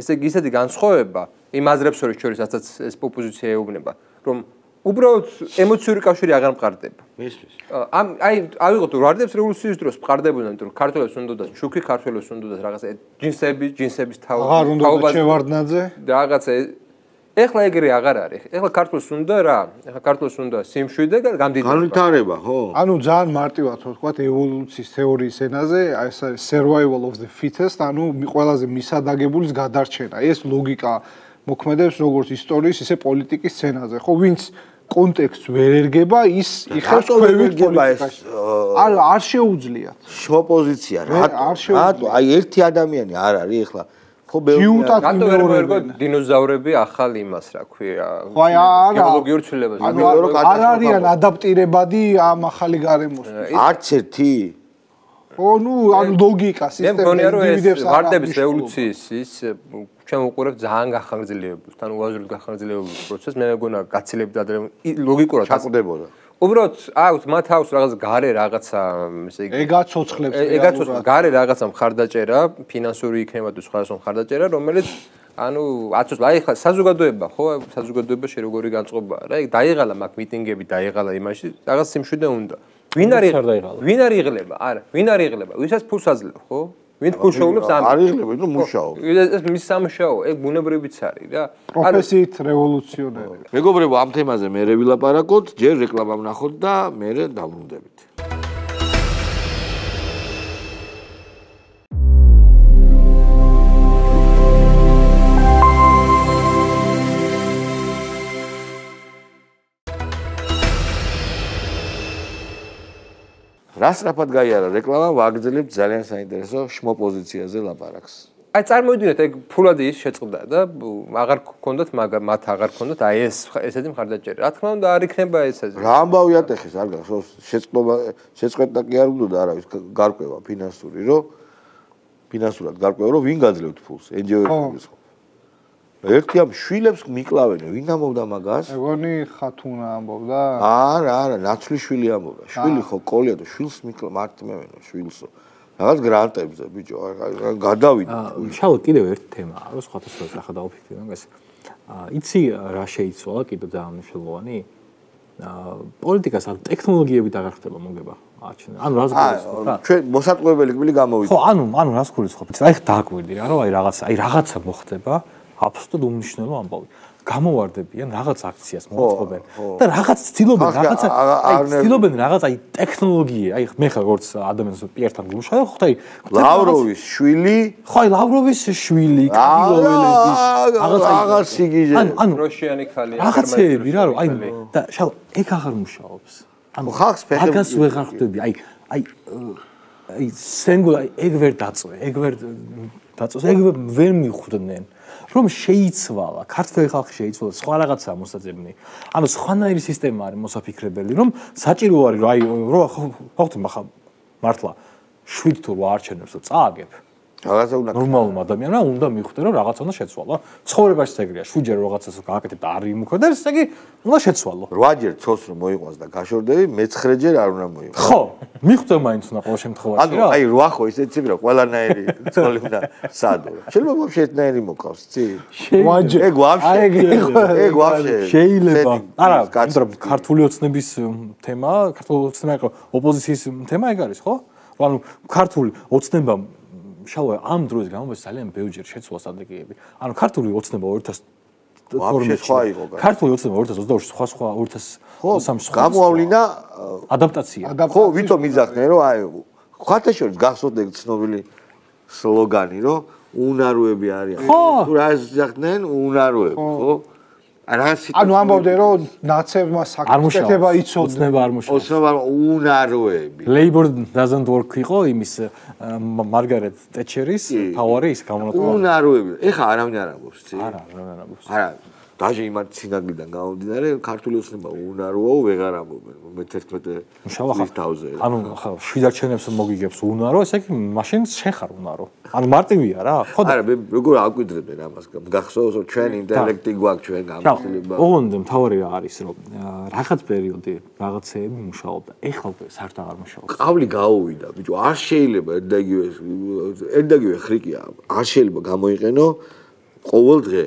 ესე იგი ისეთი განსხვავება იმ აზრებს შორის, რასაც ეს ოპოზიცია ეუბნება, რომ უბრალოდ ემოციური კავშირი აღარ მყარდება. მისთვის. ამ აი ავიღოთ ვარდებს რევოლუციის დროს მყარდებოდნენ, იმიტომ რომ ქართველებს უნდათ შუქი, ქართველებს უნდათ რაღაცა ჯინსები, ჯინსების თავი, აღარ უნდათ შევარდნაძე და რაღაცა ეხლა ეგრე აღარ არის. ეხლა ქართულს უნდა რა? ეხლა ქართულს უნდა სიმშვიდე და გამდიდრება. განვითარება, ხო? ანუ ძალიან მარტივად ვთქვათ ევოლუციის თეორიის ენაზე, ეს არის survival of the fittest, ანუ ყველაზე მისადაგებულის გადარჩენა. ეს ლოგიკა მოქმედებს როგორც ისტორიის, ისე პოლიტიკის სცენაზე, ხო? ვინც კონტექსტს ვერ ერგება, ის იხევს ქვევით პოლიტიკაში. არ არ შეუძლიათ. შოპოზიცია, რატო? რატო? აი ერთი ადამიანი არ არის ეხლა ხო ჯიუტად იმეორებო დინოზავრები ახალ იმას რა ქვია გეოლოგიურ ცვლილებებს არ არიან ადაპტირებადი ამ ახალი გარემოს არც ერთი ო ნუ ან ლოგიკა სისტემა მე მგონია რომ ეს ვარდების რევოლუციის ის ჩვენ უყურებთ ძალიან გახანგრძლივებულ თან უაზროდ გახანგრძლივებულ პროცესს მე მგონია გაცილებდა ლოგიკურად ჩაკვდებოდა უბრალოდ აუთ მათ აქვს რაღაც გარე რაღაცა ესე იგი ეგაცოცხლებს ეგაცოცხლებს გარე რაღაცა მხარდაჭერა ფინანსური იქნება თუ სხვადასხვა მხარდაჭერა რომელიც ანუ აცოცხლ აი ხა საზოგადოება ხო საზოგადოება შე როგორი განწყობაა რა ეგ დაიღალა მაგ მიტინგები დაიღალა იმაში რაღაც სიმშვიდე უნდა ვინ არის ვინ არის იღლება არა ვინ არის იღლება ვისაც ფულს აძლევ ხო ვინ ფულს შეუძლებს ამ არ იღლება ნუ მუშაობ ეს მის სამუშაო ეგ ბუნებრივიც არის რა პროფესიით რევოლუციონერი მეგობრებო ამ თემაზე მე ვილაპარაკოთ ჯერ რეკლამა ვნახოთ და მე დავბრუნდებით რას რაფად გაიარა რეკლამა ვაგრძელებთ ძალიან საინტერესო შმო პოზიციაზე ლაპარაკს. აი წარმოვიდგინეთ ეგ ფულადი ის შეწყდა და აღარ გქონდათ მაგრამ მათ აღარ გქონდათ აი ეს ესეთი მხარდაჭერა. რა თქმა უნდა არ იქნება ესაზე. რა ამბავი ატეხეს არ გახსოვს შეწყობა შეწყდა კი არ უნდა არავის გარკვევა ფინანსური რომ ფინანსურად გარკვევა რომ ვინ გაძლევთ ფულს ენჯიოების ხო. ერთი ამ შვილებს მიკლავენ ვინ ამბობდა მაგას? ეგონი ხათუნა ამბობდა? არა არა ნაცვლიშვილი ამბობდა. შვილი ხო კოლია და შვილს მიკლავ მარტმევენო შვილსო. რაღაც გრანტებზე ბიჭო გადავიდა შალო კიდევ ერთი თემაა რომ სხვათა სხვა ახლა დავფიქრე მაგას იცი რა შეიცვალა კიდევ ძალიან მნიშვნელოვანი პოლიტიკას ან ტექნოლოგიებით აღარ ხდება მოგება აჩვენა ანუ რას გულისხმობ რა ჩვენ მოსაწყვეტებელი კბილი გამოვიდა ხო ანუ ანუ რას გულისხმობ აი დააკვირდი რა რომ აი რაღაცა აი რაღაცა მოხდება აბსოლუტურად უმნიშვნელო ამბავი გამოვარდებიან რაღაც აქციას მოწყობენ და რაღაც ცდილობენ რაღაცა აი ცდილობენ რაღაც აი ტექნოლოგია აი მე ხარ როგორც ადამიანს პიერთან გულშავ ხო აი ლავროვის შვილი ხო აი ლავროვის შვილი კადილოველები რაღაც სიგიჟე ანუ როშიანი ხალია რაღაცეები რა რომ აი და შალ ეგ აღარ მუშაობს ანუ ხალხს ფეხები მაგას ვეღარ ხვდები აი აი აი სენგულ აი ეგ ვერ დაწვე ეგ ვერ დაწვეს ეგ ვერ მიხვდნენ რომ შეიცვალა ქართული ხალხი შეიცვალა სხვა რაღაცაა მოსაძებნი ანუ სხვანაირი სისტემა არის მოსაფიქრებელი რომ საჭირო არის რომ აი რო ხოხთი ხა მართლა შვიდ თუ არჩენებს რომ წააგებ რაღაცა უნდა ნორმალურმა ადამიანმა უნდა მიხვდეს რომ რაღაცა უნდა შეცვალა ცხოვრებაში ეგრეა შვიდჯერ რაღაცას გააკეთებ და არ იმუქრებს ესე იგი უნდა შეცვალო რვაჯერ ცოლს რომ მოიყვანს და გაშორდები მეცხრეჯერ არ უნდა მოიყვანს ხო მიხვდე მაინც უნდა ყოველ შემთხვევაში რა აი რვა ხო ისე იცი რა ყველანაირი ცოლი უნდა სადო შეიძლება ვაფშე ერთნაირი მოყავს ცი რვაჯერ ეგ ვაფშე ეგ ვაფშე შეიძლება არა მაგრამ ქართული ოცნების თემა ქართული ოცნება იყო ოპოზიციის თემა ეგ არის ხო ანუ ქართული ოცნება შალო ამ დროის განმავლობაში ძალიან ბევრჯერ შეცვალა სტრატეგიები. ანუ ქართული ოცნება ორი ათას თორმეტ სხვა იყო. ქართული ოცნება ორი ათას ოცდაოთხში სხვა სხვა ორი ათას ოცდამეტში სხვა. გამოავლინა ადაპტაცია. ხო, ვითომ იძახდნენ რომ აი ხათაშორის გახსოვთ ეგ ცნობილი სლოგანი რომ უნაროები არიან. თუ რა იძახდნენ უნაროები, ხო? ანუ ამბობდნენ რომ ნაცებმა საკეთება იცოდნენ. ოცნება არ მუშაობს. ოცნება უნაროები. Labor doesn't work იყო იმის მარგარეტ ტეჩერის თავარი ის გამონათვალა. უნაროები. ეხა არავინ არ ამბობს, ცი? არა, არავინ არ ამბობს. არა, დაჟე იმათ სინაგლიდან გამომდინარე, ქართული ოცნება უნაროა, ვეღარ ამბობენ. მეთერთმეტე წლის თავზე. ანუ ხა შვიდარჩენებს მოგიგებს უნარო, ესე იგი მაშინ შეხარ უნარო. ანუ მარტივია რა, ხო და არა, მე როგორ აკვირდებენ ამას? გახსოვს რომ ჩვენ ინტელექტი გვაქვს ჩვენ გამოსილება. ოღონდ მთავარი რა არის რომ რაღაც პერიოდი რაღაცეები მუშაობდა. ეხლა უკვე საერთოდ აღარ მუშაობს. ყავლი გაუვიდა, ბიჭო, არ შეიძლება ერთდაგივე ერთდაგივე ხრიკია. არ შეიძლება გამოიყენო ყოველ დღე.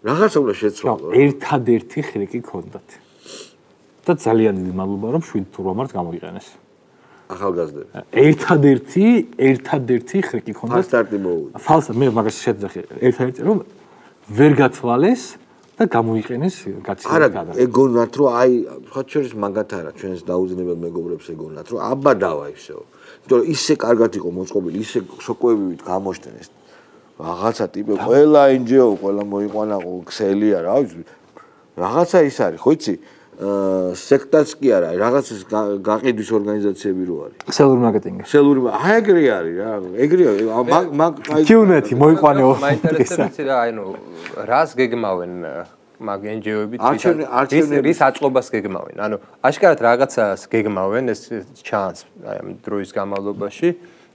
რაღაცა უნდა შეცვალო. ერთადერთი ხრიკი ქონდათ. და ძალიან დიდი მადლობა რომ შვიდ თუ რამაც გამოიყენეს. ახალგაზრდები. ერთადერთი, ერთადერთი ხრიკი ქონდათ. ფალსტარტი მოვიდა. ფალსტა მე მაგას შეძახი. ერთადერთი რომ ვერ გათვალეს და გამოიყენეს გაცილებით. არა, ეგონათ რომ აი სხვა შორის მაგათ არა, ჩვენს დაუძინებელ მეგობრებს ეგონათ რომ აბადავა ისეო. იმიტომ რომ ისე კარგად იყო მოწყობილი, ისე შოკოებივით გამოშტენეს. რაღაცა ტიპი ყველა ენჯიო, ყველა მოიყვანა ქსელია რა ვიცი. რაღაცა ის არის, ხო იცი? აა სექტაც კი არა, რაღაცის გაყიდვის ორგანიზაციები რო არის. ქსელური მარკეტინგი. ქსელური, აი ეგრე არის რა, ეგრეა, მაგ მაგ აი კიუნეთი მოიყვანეო. მაინტერესებს რა, აი ნუ რას გეგმავენ მაგ ენჯიოები რის რის აწყობას გეგმავენ. ანუ აშკარად რაღაცას გეგმავენ ეს ჩანს აი ამ დროის განმავლობაში.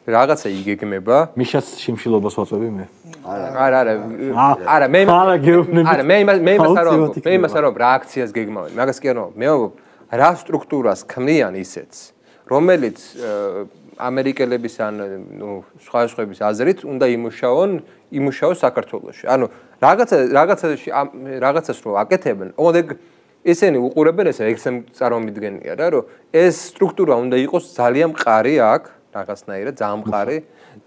რაღაცა იგეგმება. მიშას შიმშილობას ვაწვევი მე. არა, არა. არა, მე არა, მე იმას მე იმას არ ვამბობ. მე იმას არ ვამბობ, რა აქციას გეგმავენ. მაგას კი არ ვამბობ. მე ვამბობ, რა სტრუქტურას ქმნიან ისეთს, რომელიც ამერიკელების ან ნუ სხვა სხვების აზრით უნდა იმუშაონ, იმუშაოს საქართველოში. ანუ რაღაცა რაღაცაში რაღაცას რო აკეთებენ, ოღონდ ესენი უყურებენ ესე ექსემ წარმომიდგენია რა, რომ ეს სტრუქტურა უნდა იყოს ძალიან მყარი აქ რაღაცნაირად ზამყარი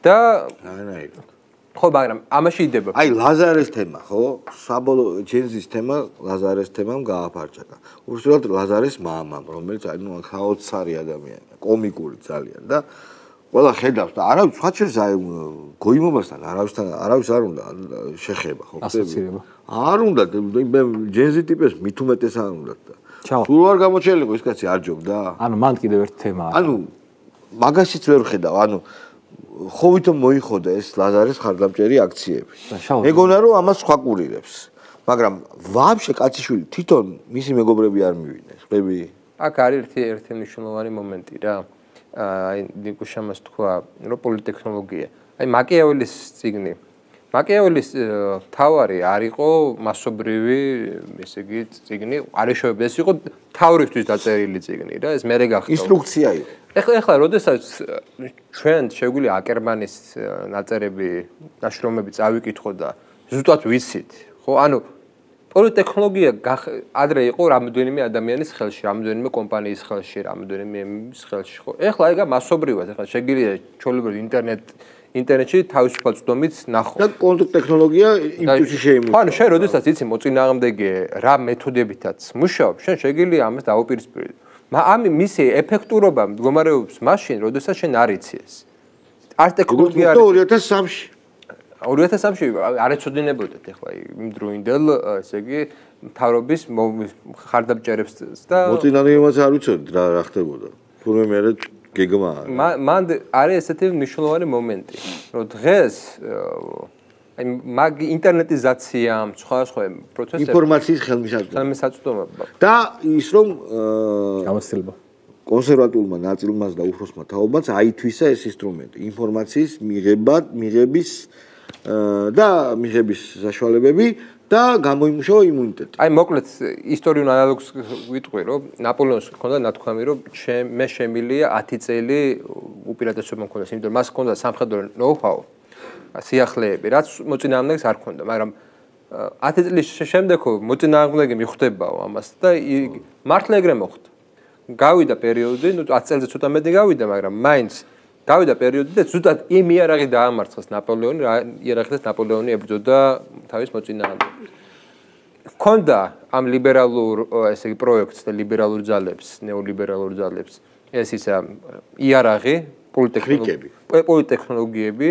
და რაღაცნაირად. ხო, მაგრამ ამაში იდება. აი ლაზარეს თემა, ხო? საბოლოო ჯენზის თემა ლაზარეს თემამ გააფარჭაკა. უშუალოდ ლაზარეს მამამ, რომელიც აი ნუ ხაოცარი ადამიანია, კომიკური ძალიან და ყველა ხედავს და არავის სხვა შორის აი გოიმობასთან არავისთან არავის არ უნდა შეხება, ხო? ასოცირება. არ უნდა ჯენზი ტიპებს მით უმეტეს არ უნდა და. ჩაო. თუ არ გამოჩელიყო ეს კაცი არ ჯობდა. ანუ მან კიდევ ერთი თემა არის. ანუ მაგაშიც ვერ ხედავ, ანუ ხო ვითომ მოიხოდა ეს ლაზარეს ხარდამჭერი აქციები. მეგონა რომ ამას სხვა კურირებს. მაგრამ ვაფშე კაციშვილი თვითონ მისი მეგობრები არ მივიდნენ. ხები? აქ არის ერთი ერთი მნიშვნელოვანი მომენტი რა. აი ნიკუშამას თქვა, რომ პოლიტექნოლოგია. აი მაკიაველის წიგნი. მაკიაველის თავარი არ იყო მასობრივი, ესე იგი, წიგნი, არეშოები, ეს იყო თავრისთვის დაწერილი წიგნი რა, ეს მერე გახდა. ინსტრუქცია იყო. ეხლა ეხლა როდესაც ჩვენ შეგვიძლია აკერმანის ნაწერები, ნაშრომები წავიკითხო და ზუსტად ვიცით, ხო? ანუ პოლიტექნოლოგია ადრე იყო რამდენიმე ადამიანის ხელში, რამდენიმე კომპანიის ხელში, რამდენიმე ემის ხელში, ხო? ეხლა ეგა მასობრივად, ეხლა შეგვიძლია ჩვეულებრივ ინტერნეტ ინტერნეტში თავისუფალ წვდომით ნახო. და კონტრტექნოლოგია იმ თვეში შეიმუშავა. ხო, ანუ შენ როდესაც იცი მოწინააღმდეგე რა მეთოდებითაც მუშაობს, შენ შეგვიძლია ამას დაუპირისპირდე. ამ მისი ეფექტურობა მდგომარეობს მაშინ, როდესაც შენ არ იცი ეს. არ ტექნოლოგია არის. ორი ათას სამში. ორი ათას სამში არ ეცოდინებოდეთ ეხლა იმ დროინდელ, ესე იგი, მთავრობის ხარდაბჭერებს და მოწინააღმდეგეებს არ ვიცოდით რა რა ხდებოდა. თურმე მე გეგმა არის. მან არის ესეთი მნიშვნელოვანი მომენტი, რომ დღეს აი მაგ ინტერნეტიზაციამ, სხვა სხვა პროცესებს ინფორმაციის ხელმისაწვდომობა. ხელმისაწვდომობა. და ის რომ გამოცდილება. კონსერვატულმა ნაწილმაც და უფროსმა თაობმაც აითვისა ეს ინსტრუმენტი, ინფორმაციის მიღება, მიღების და მიღების საშუალებები და გამოიმუშავა იმუნიტეტი. აი მოკლედ ისტორიულ ანალოგს ვიტყვი, რომ ნაპოლეონს ჰქონდა ნათქვამი, რომ მე შემილია ათი წელი უპირატესობა მქონდა, იმიტომ რომ მას ჰქონდა სამხედრო ნოუ-ჰაუ, სიახლეები, რაც მოწინააღმდეგეს არ ჰქონდა, მაგრამ ათი წლის შემდეგ მოწინააღმდეგე მიხვდებაო ამას და მართლა ეგრე მოხდა. გავიდა პერიოდი, ნუ ათი წელზე ცოტა მეტი გავიდა, მაგრამ მაინც გავიდა პერიოდი და ზუსტად იმ იარაღი დაამარცხეს ნაპოლეონი, რა იარაღით ნაპოლეონი ებრძოდა თავის მოწინააღმდეგეს. ჰქონდა ამ ლიბერალურ, ესე იგი, პროექტს და ლიბერალურ ძალებს, ნეოლიბერალურ ძალებს, ეს ისა იარაღი, პოლიტექნოლოგიები, პოლიტექნოლოგიები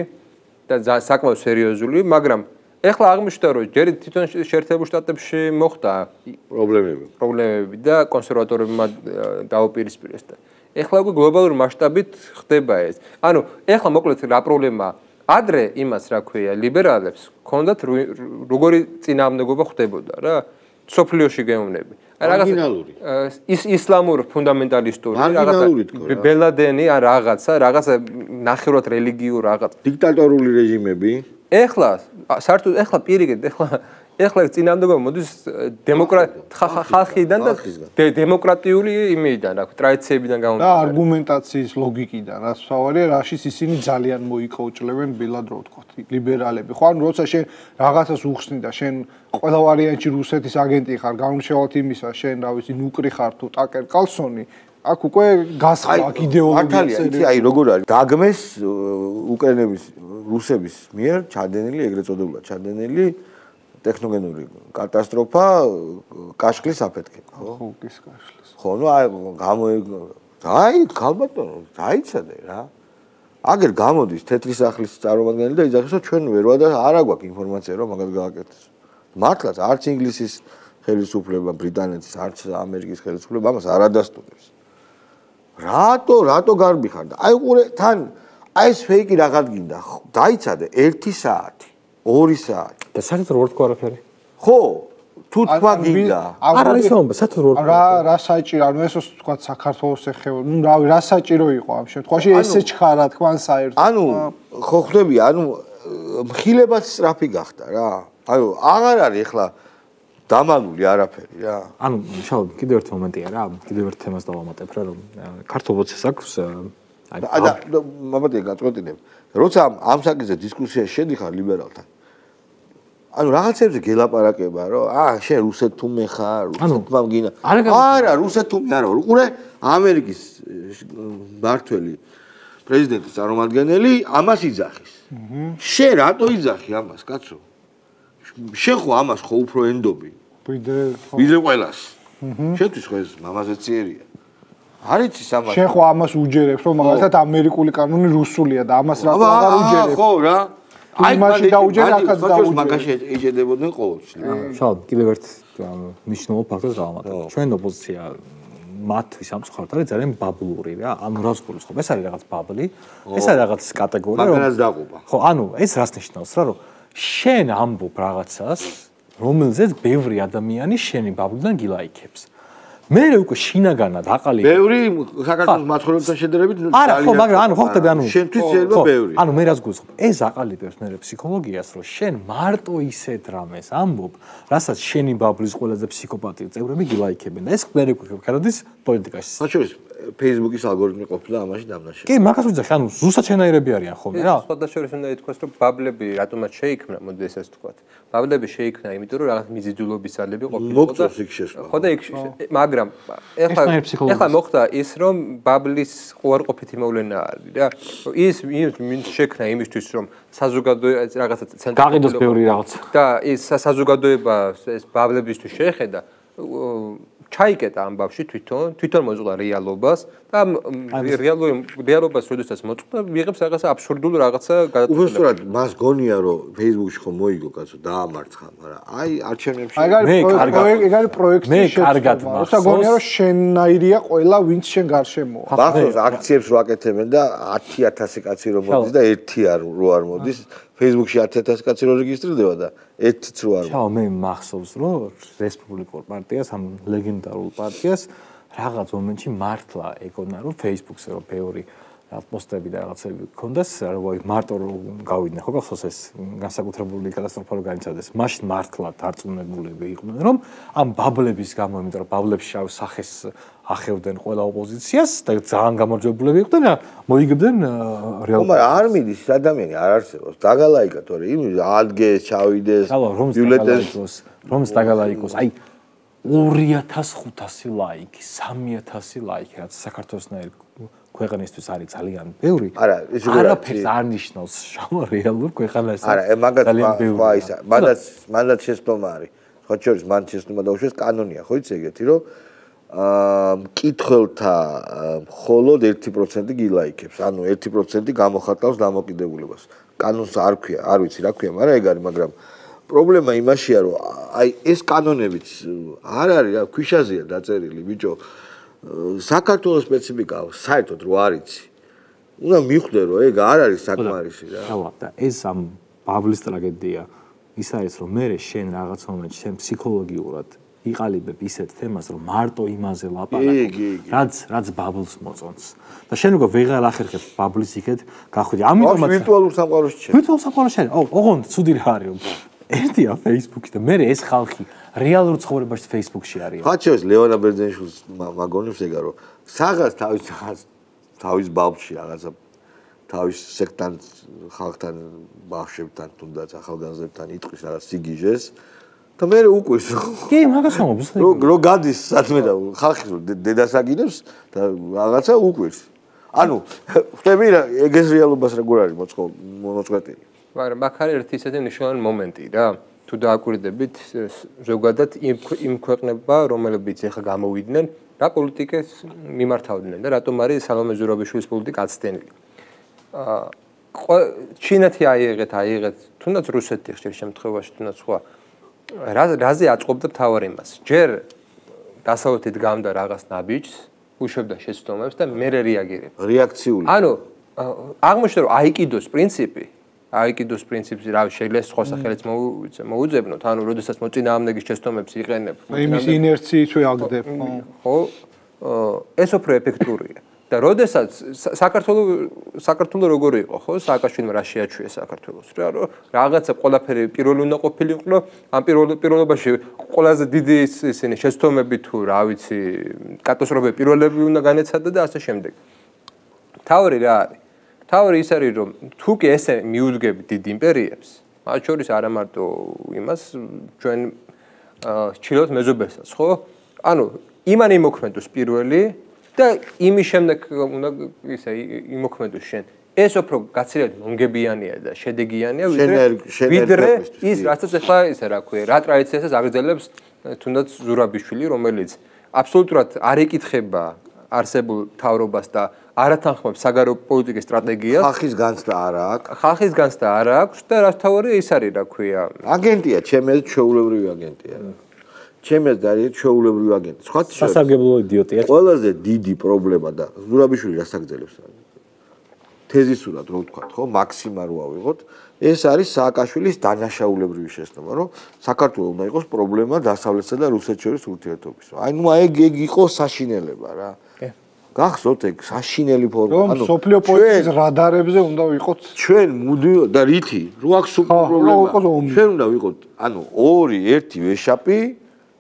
და საკმაოდ სერიოზული, მაგრამ ეხლა აღმოჩნდა, რომ ჯერ თვითონ შეერთებულ შტატებში მოხდა პრობლემები. პრობლემები და კონსერვატორებმა დაუპირისპირეს და ეხლა უკვე გლობალურ მასშტაბით ხდება ეს. ანუ ეხლა მოკლედ რა პრობლემაა? ადრე იმას რა ქვია, ლიბერალებს ჰქონდათ როგორი წინააღმდეგობა ხდებოდა რა, სოფლიოში გეუბნები. მარგინალური. ის ისლამურ ფუნდამენტალისტური მარგინალური თქო რა. ბელადენი ან რაღაცა, რაღაცა ნახევრად რელიგიურ რაღაც. დიქტატორული რეჟიმები. ეხლა საერთოდ ეხლა პირიქით, ეხლა ეხლა წინააღმდეგობა მოდის ხალხიდან და დემოკრატიული იმიდან, რა ქვია, ტრადიციებიდან და არგუმენტაციის ლოგიკიდან, რაც თავარია, რაშიც ისინი ძალიან მოიკოჭლებენ ბილად რო ვთქვათ, ლიბერალები. ხო, ანუ როცა შენ რაღაცას უხსნი და შენ ყველა ვარიანტში რუსეთის აგენტი ხარ, გამომშევათ იმისა, შენ რა ვიცი, ნუკრი ხარ თუ ტაკერ კალსონი, აქ უკვე გასხვა აქ იდეოლოგია. იცი, აი როგორ არის? დაგმეს უკრაინების რუსების მიერ ჩადენილი, ეგრეთ წოდებული ჩადენილი ტექნოგენური კატასტროფა კაშხლის აფეთქება, ხო? ხო, ის კაშხლის. ხო, ნუ აი გამო აი ქალბატონო, დაიცადე რა. აგერ გამოდის თეთრი სახლის წარმომადგენელი და იძახის, რომ ჩვენ ვერ ვადა არა გვაქვს ინფორმაცია, რომ მაგას გააკეთეს. მართლაც არც ინგლისის ხელისუფლება, ბრიტანეთის, არც ამერიკის ხელისუფლება ამას არ ადასტურებს. რატო, რატო გარბი ხარ და აი ყურე თან აი ეს ფეიკი რაღაც გინდა, დაიცადე ერთი საათი, ორი საათი. და საერთოდ რო თქვა არაფერი. ხო, თუ თქვა გინდა. არ არის რომ საერთოდ რო რა რა საჭირო, ანუ ესოს თქვა საქართველოს ეხება, ნუ რავი, რა საჭირო იყო ამ შემთხვევაში, ესე ჩხარა თქვა საერთოდ. ანუ ხო ხვდები, ანუ მხილებაც სწრაფი გახდა რა. ანუ აღარ არის ახლა დამალული არაფერი რა. ანუ შალ კიდევ ერთი მომენტია რა, კიდევ ერთ თემას დავამატებ რა, რომ ქართულ ბოცეს აქვს აი და მომენტია გაწყვეტინებ. როცა ამ საკითხზე დისკუსიაში შედიხარ ლიბერალთან. ანუ რაღაცებზე გელაპარაკება, რომ აა შენ რუსეთ თუ მე ხარ, რუსეთმა მგინა. არა, რუსეთ თუ მე არა, უყურე ამერიკის მართველი პრეზიდენტის წარმომადგენელი ამას იძახის. შენ რატო იძახი ამას, კაცო? შენ ხო ამას ხო უფრო ენდობი? ვიდრე ვიდრე ყველას. შენთვის ხო ეს მამაზეციერია. არ იცი ამას. შენ ხო ამას უჯერებს, რომ მაგალითად ამერიკული კანონი რუსულია და ამას რა აღარ უჯერებს. ხო რა. აი მაშინ დაუჯერე, ახაც დაუჯერე. მაგაში ეჭედებოდნენ ყოველთვის. შალ კიდევ ერთ მნიშვნელოვან ფაქტორს დავამატებ. ჩვენ ოპოზიცია მათთვის ამ მხართ არის ძალიან ბაბლური რა. ანუ რას გულს ხო? ეს არის რაღაც ბაბლი. ეს არის რაღაც კატეგორია, რომ მაგას დაყובה. ხო, ანუ ეს რას ნიშნავს რა, რომ შენ ამბობ რაღაცას, რომელზეც ბევრი ადამიანი შენი ბაბლიდან გილაიქებს. მე უკვე შინაგანად აყალიბე. ბევრი საქართველოს მაცხოვრებელთან შედარებით არა, ხო, მაგრამ ანუ ხო ხდება, ანუ შენთვის შეიძლება ბევრი. ანუ მე რაც გულისხმობ, ეს აყალიბებს მე ფსიქოლოგიას, რომ შენ მარტო ისეთ რამეს ამბობ, რასაც შენი ბაბლის ყველაზე ფსიქოპატი წევრები გილაიქებენ და ეს მე გვქაროდის პოლიტიკაში. საჩურის Facebook-ის ალგორითმი ყოფილა ამაში დამნაშავე. კი, მაგას ვიძახი, ანუ ზუსტად შენაირები არიან ხოლმე რა. სხვადასხვა უნდა ითქვას, რომ ბაბლები რატომაც შეიქმნა, მოდი ესეც ვთქვათ. ბაბლები შეიქმნა, იმიტომ რომ რაღაც მიზიდულობის ძალები ყოფილიყო და მოგწონს იქ შესვლა. ხო და იქ მაგრამ ეხლა ეხლა მოხდა ის, რომ ბაბლის უარყოფითი მოვლენა არის რა. ის ის შექმნა იმისთვის, რომ საზოგადოება რაღაცა ცენტრალიზებული გაყიდოს ბევრი რაღაც. და ის საზოგადოება ეს ბაბლებისთვის შეეხედა ჩაიკეტა ამ ბავში თვითონ, თვითონ მოწყდა რეალობას და რეალურ რეალობას როდესაც მოწყდა, მიიღებს რაღაცა აბსურდულ რაღაცა გადაწყვეტილებას. უბრალოდ მას გონია რომ Facebook-ში ხომ მოიგო კაცო დაამარცხა, მაგრამ აი არჩევნებში ეგ არის პროექტი შეცდომა. როცა გონია რომ შენაირია ყველა ვინც შენ გარშემოა. ბახოს აქციებს რო აკეთებენ და ათი ათასი კაცი რო მოდის და ერთი არ რო არ მოდის, Facebook-ში ათი ათასი კაცი რო რეგისტრირდება და ერთიც რო არ მოდის. ჩაო, მე მახსოვს რომ რესპუბლიკურ პარტიას, ამ ლეგენდარულ პარტიას რაღაც მომენტში მართლა ეგონა რომ Facebook-ზე რო ბევრი რაღაც პოსტები და რაღაცები გქონდეს, რომ მარტო რომ გავიდნენ, ხო გახსოვს ეს განსაკუთრებული კატასტროფა რო განიცადეს. მაშინ მართლა დარწმუნებულები იყვნენ, რომ ამ ბაბლების გამო, იმიტომ რომ ბაბლებს შავ სახეს ახევდნენ ყველა ოპოზიციას და ძალიან გამარჯვებულები იყვნენ და მოიგებდნენ რეალ. მაგრამ არ მიდის ადამიანი არ არსებობს. დაგალაიკა თორე იმ ადგეს, ჩავიდეს, ბიულეტენს, რომს დაგალაიკოს. აი ორი ათას ხუთასი ლაიკი, სამი ათასი ლაიკი, რაც საქართველოსნაირ ქვეყნისთვის არის ძალიან ბევრი. არა, ის როგორ არაფერს არ ნიშნავს შავ რეალურ ქვეყანას. არა, მაგათ ხო ისა, მანდაც მანდაც შეცდომა არის. ხო შორის მან შეცდომა დაუშვეს კანონია, ხო იცი ეგეთი, რომ აა მკითხველთა მხოლოდ ერთი პროცენტი გილაიქებს, ანუ ერთი პროცენტი გამოხატავს დამოკიდებულებას. კანონს არ ქვია, არ ვიცი რა ქვია, მაგრამ ეგ არის, მაგრამ პრობლემა იმაშია, რომ აი ეს კანონებიც არ არის რა, ქვიშაზეა დაწერილი, ბიჭო. საქართველოს სპეციფიკა საერთოდ რო არიცი. უნდა მიხვდე რომ ეგ არ არის საკმარისი რა. ხავა და ეს ამ ბაბლის ტრაგედია ის არის რომ მე შენ რაღაც მომენტში შენ ფსიქოლოგიურად იყალიბებ ისეთ თემას რომ მარტო იმაზე ლაპარაკობ რაც რაც ბაბლს მოწონს და შენ უკვე ვეღარ ახერხებ ბაბლის იქეთ გახვიდი ამიტომაც ვირტუალურ სამყაროში შენ ვირტუალურ სამყაროში შენ ოღონდ ცუდი რა არის რომ ერთია Facebook-ი და მე ეს ხალხი რეალურ ცხოვრებაში Facebook-ში არის. ხაჩოს ლევანა ბერძენიშვილს მაგონებს ეგა რომ საღას თავის თავის ბავშვი რაღაცა თავის სექტან ხალხთან ბავშვებთან თუნდაც ახალგაზრდებთან იტყვის რაღაც სიგიჟეს და მე უკვეს. კი, მაგას ამბობს. რო რო გადის სადმე და ხალხი დედას აგინებს და რაღაცა უკვეს. ანუ ხვდები რა ეგეს რეალობას როგორ არის მოწყვეტილი. მაგრამ აქ არის ერთი ისეთი მნიშვნელოვანი მომენტი რა. თუ დააკვირდებით ზოგადად იმ ქვეყნებმა, რომლებიც ეხა გამოვიდნენ, რა პოლიტიკას მიმართავდნენ და რატომ არის სალომე ზურაბიშვილის პოლიტიკა აცდენილი. აა ჩინეთი აიღეთ, აიღეთ, თუნდაც რუსეთი ხშირ შემთხვევაში, თუნდაც სხვა. რა რაზე აწყობდა თავარ იმას. ჯერ დასავლეთით გამდა რაღაც ნაბიჯს, უშვებდა შეცდომებს და მე რეაგირება. რეაქციული. ანუ აღმოჩნდა რომ აიკიდოს პრინციპი აიკიდოს პრინციპი რა შეიძლება სხვა სახელით მოუძებნოთ, ანუ როდესაც მოწინააღმდეგის შეცდომებს იყენებ. იმის ინერციით ვეაგდებ. ხო, ეს უფრო ეფექტურია. და როდესაც საქართველოს საქართველოს როგორ იყო, ხო, სააკაშვილმა რა შეაჩვია საქართველოს. რა რომ რაღაცა ყველაფერი პირველი უნდა ყოფილიყო, ამ პირველ პირველობაში ყველაზე დიდი ისინი შეცდომები თუ რა ვიცი, კატასტროფები პირველები უნდა განეცადა და ასე შემდეგ. თავი რა არის? თავი ის არის რომ თუ კი ესე მიუძგები დიდ იმპერიებს, მათ შორის არა მარტო იმას ჩვენ ჩილოთ მეზობელსაც, ხო? ანუ იმან იმოქმედოს პირველი და იმის შემდეგ უნდა ისე იმოქმედოს შენ. ეს უფრო გაცილებით მომგებიანია და შედეგიანია ვიდრე ის რასაც ახლა ისე რა ქვია, რა ტრადიციასაც აგრძელებს თუნდაც ზურაბიშვილი, რომელიც აბსოლუტურად არ ეკითხება არსებულ თავრობას და არათანხმობს საგარეო პოლიტიკის სტრატეგიას. ხალხის განცდა არ აქვს. ხალხის განცდა არ აქვს და რაც თავარი ის არის რა ქვია. აგენტია, ჩემი აზრით ჩვეულებრივი აგენტია. ჩემი აზრით არის ჩვეულებრივი აგენტი. სხვა სასარგებლო იდიოტია. ყველაზე დიდი პრობლემა და ზურაბიშვილი რას აგრძელებს? თეზისურად რო ვთქვათ, ხო, მაქსიმა რო ავიღოთ, ეს არის სააკაშვილის დანაშაულებრივი შეცდომა, რომ საქართველოს უნდა იყოს პრობლემა დასავლეთსა და რუსეთს შორის ურთიერთობის. აი ნუ ეგ ეგ იყო საშინელება რა. გახსოვთ ეგ საშინელი ფორმა, ანუ სოფლიო პოლიტიკის რადარებზე უნდა ვიყოთ ჩვენ მუდი და რითი რო აქვს პრობლემა. ჩვენ უნდა ვიყოთ, ანუ ორი, ერთი ვეშაპი,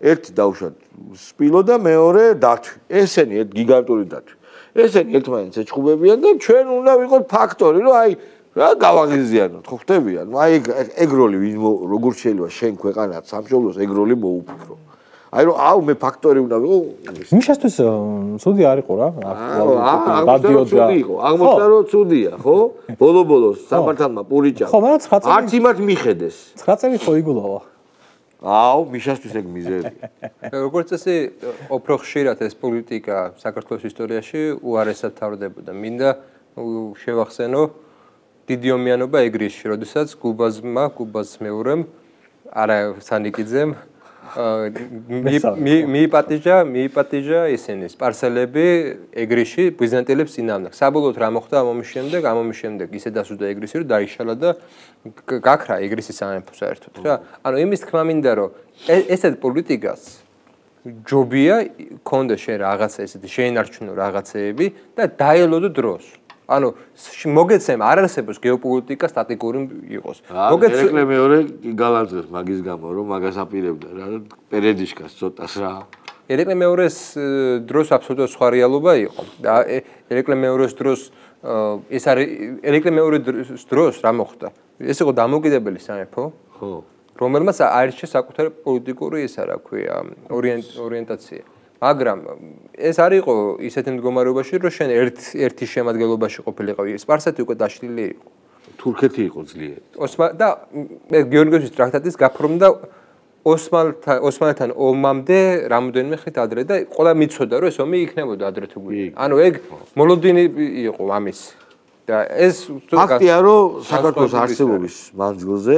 ერთი დავუშვათ სპილო და მეორე დათვი. ესენი ერთ გიგანტური დათვი. ესენი ერთმანეთს ეჩხუბებიან და ჩვენ უნდა ვიყოთ ფაქტორი, რომ აი რა გავაღიზიანოთ, ხო ხდებიან? აი ეგ როლი როგორ შეიძლება შენ ქვეყანას სამშობლოს ეგ როლი მოუფიქრო. აი რომ აუ მე ფაქტორი უნდა ვიყო. მიშასთვის ცუდი არ იყო რა. გადიოდა. აღმოჩნდა რომ ცუდია, ხო? ბოლო-ბოლოს სამართალმა პურიჭა. ხო, მაგრამ ცხრა წელი არც იმათ მიხედეს. ცხრა წელი ხო იგულავა. აუ, მიშასთვის ეგ მიზერია. როგორც წესი, უფრო ხშირად ეს პოლიტიკა საქართველოს ისტორიაში უარესად თავრდებოდა. მინდა შევახსენო დიდი ომიანობა ეგრისში, როდესაც გუბაზმა, გუბაზის მეორემ, არა სანიკიძემ მიიპატიჟა, მიიპატიჟა ისინი სპარსელები ეგრისში ბიზანტიელებს წინააღმდეგ. საბოლოოდ რა მოხდა ამ ომის შემდეგ? ამ ომის შემდეგ ისე დასუსდა ეგრისი, რომ დაიშალა და გაქრა ეგრისის სამეფო საერთოდ რა. ანუ იმის თქმა მინდა, რომ ესეთ პოლიტიკას ჯობია ქონდა შენ რაღაცა ესეთი შეინარჩუნო რაღაცეები და დაელოდო დროს. ანუ მოგეცემ არ არსებობს გეოპოლიტიკა სტატიკური იყოს. მოგეცემ ერეკლე მეორე გალანძღებს მაგის გამო რომ მაგას აპირებდა რა პერედიშკას ცოტას რა. ერეკლე მეორეს დროს აბსოლუტურად სხვა რეალობა იყო და ერეკლე მეორეს დროს ეს არის ერეკლე მეორეს დროს რა მოხდა? ეს იყო დამოუკიდებელი სამეფო, ხო, რომელმაც აირჩიეს საკუთარი პოლიტიკური ისა რა ქვია ორიენტაცია. მაგრამ ეს არ იყო ისეთი მდგომარეობაში, რომ შენ ერთ ერთი შემადგენლობაში ყოფილიყავი. სპარსეთი უკვე დაშლილი იყო. თურქეთი იყო ძლიერი. ოსმან და გეორგიევის ტრაქტატის გაფორმდა ოსმალთან ოსმალთან ომამდე რამოდენიმე ხნით ადრე და ყველა მიცოდა, რომ ეს ომი იქნებოდა ადრე თუ გვი. ანუ ეგ მოლოდინი იყო ამის. და ეს ფაქტია, რომ საქართველოს არსებობის მანძილზე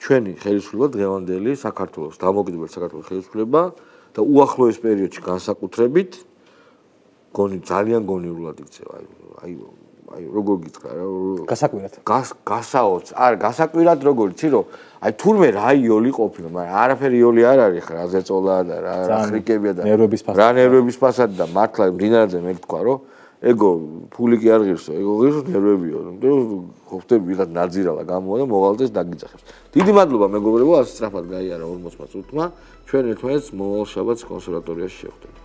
ჩვენი ხელისუფლება დღევანდელი საქართველოს დამოუკიდებელი საქართველოს ხელისუფლება და უახლოეს პერიოდში განსაკუთრებით გონი ძალიან გონივრულად იქცევა. აი აი როგორ გითხრა რა გასაკვირად. გასაოც, არა გასაკვირად როგორ იცი რომ აი თურმე რა იოლი ყოფილა, მაგრამ არაფერი იოლი არ არის ხა რა ზეწოლა და რა ხრიკებია და ნერვების ფასად. რა ნერვების ფასად და მართლა მდინარეზე მე გთქვა რომ ეგო ფული კი არ ღირსო, ეგო ღირსო ნერვებიო. ხო ხტები ვიღაც ნაძირალა გამოვა და მოვალდეს დაგიძახებს. დიდი მადლობა მეგობრებო, ასე სწრაფად გაიარა ორმოცდაოთხ წუთმა. ჩვენ ერთმანეთს მოვალ შაბათს კონსერვატორიაში შევხვდებით.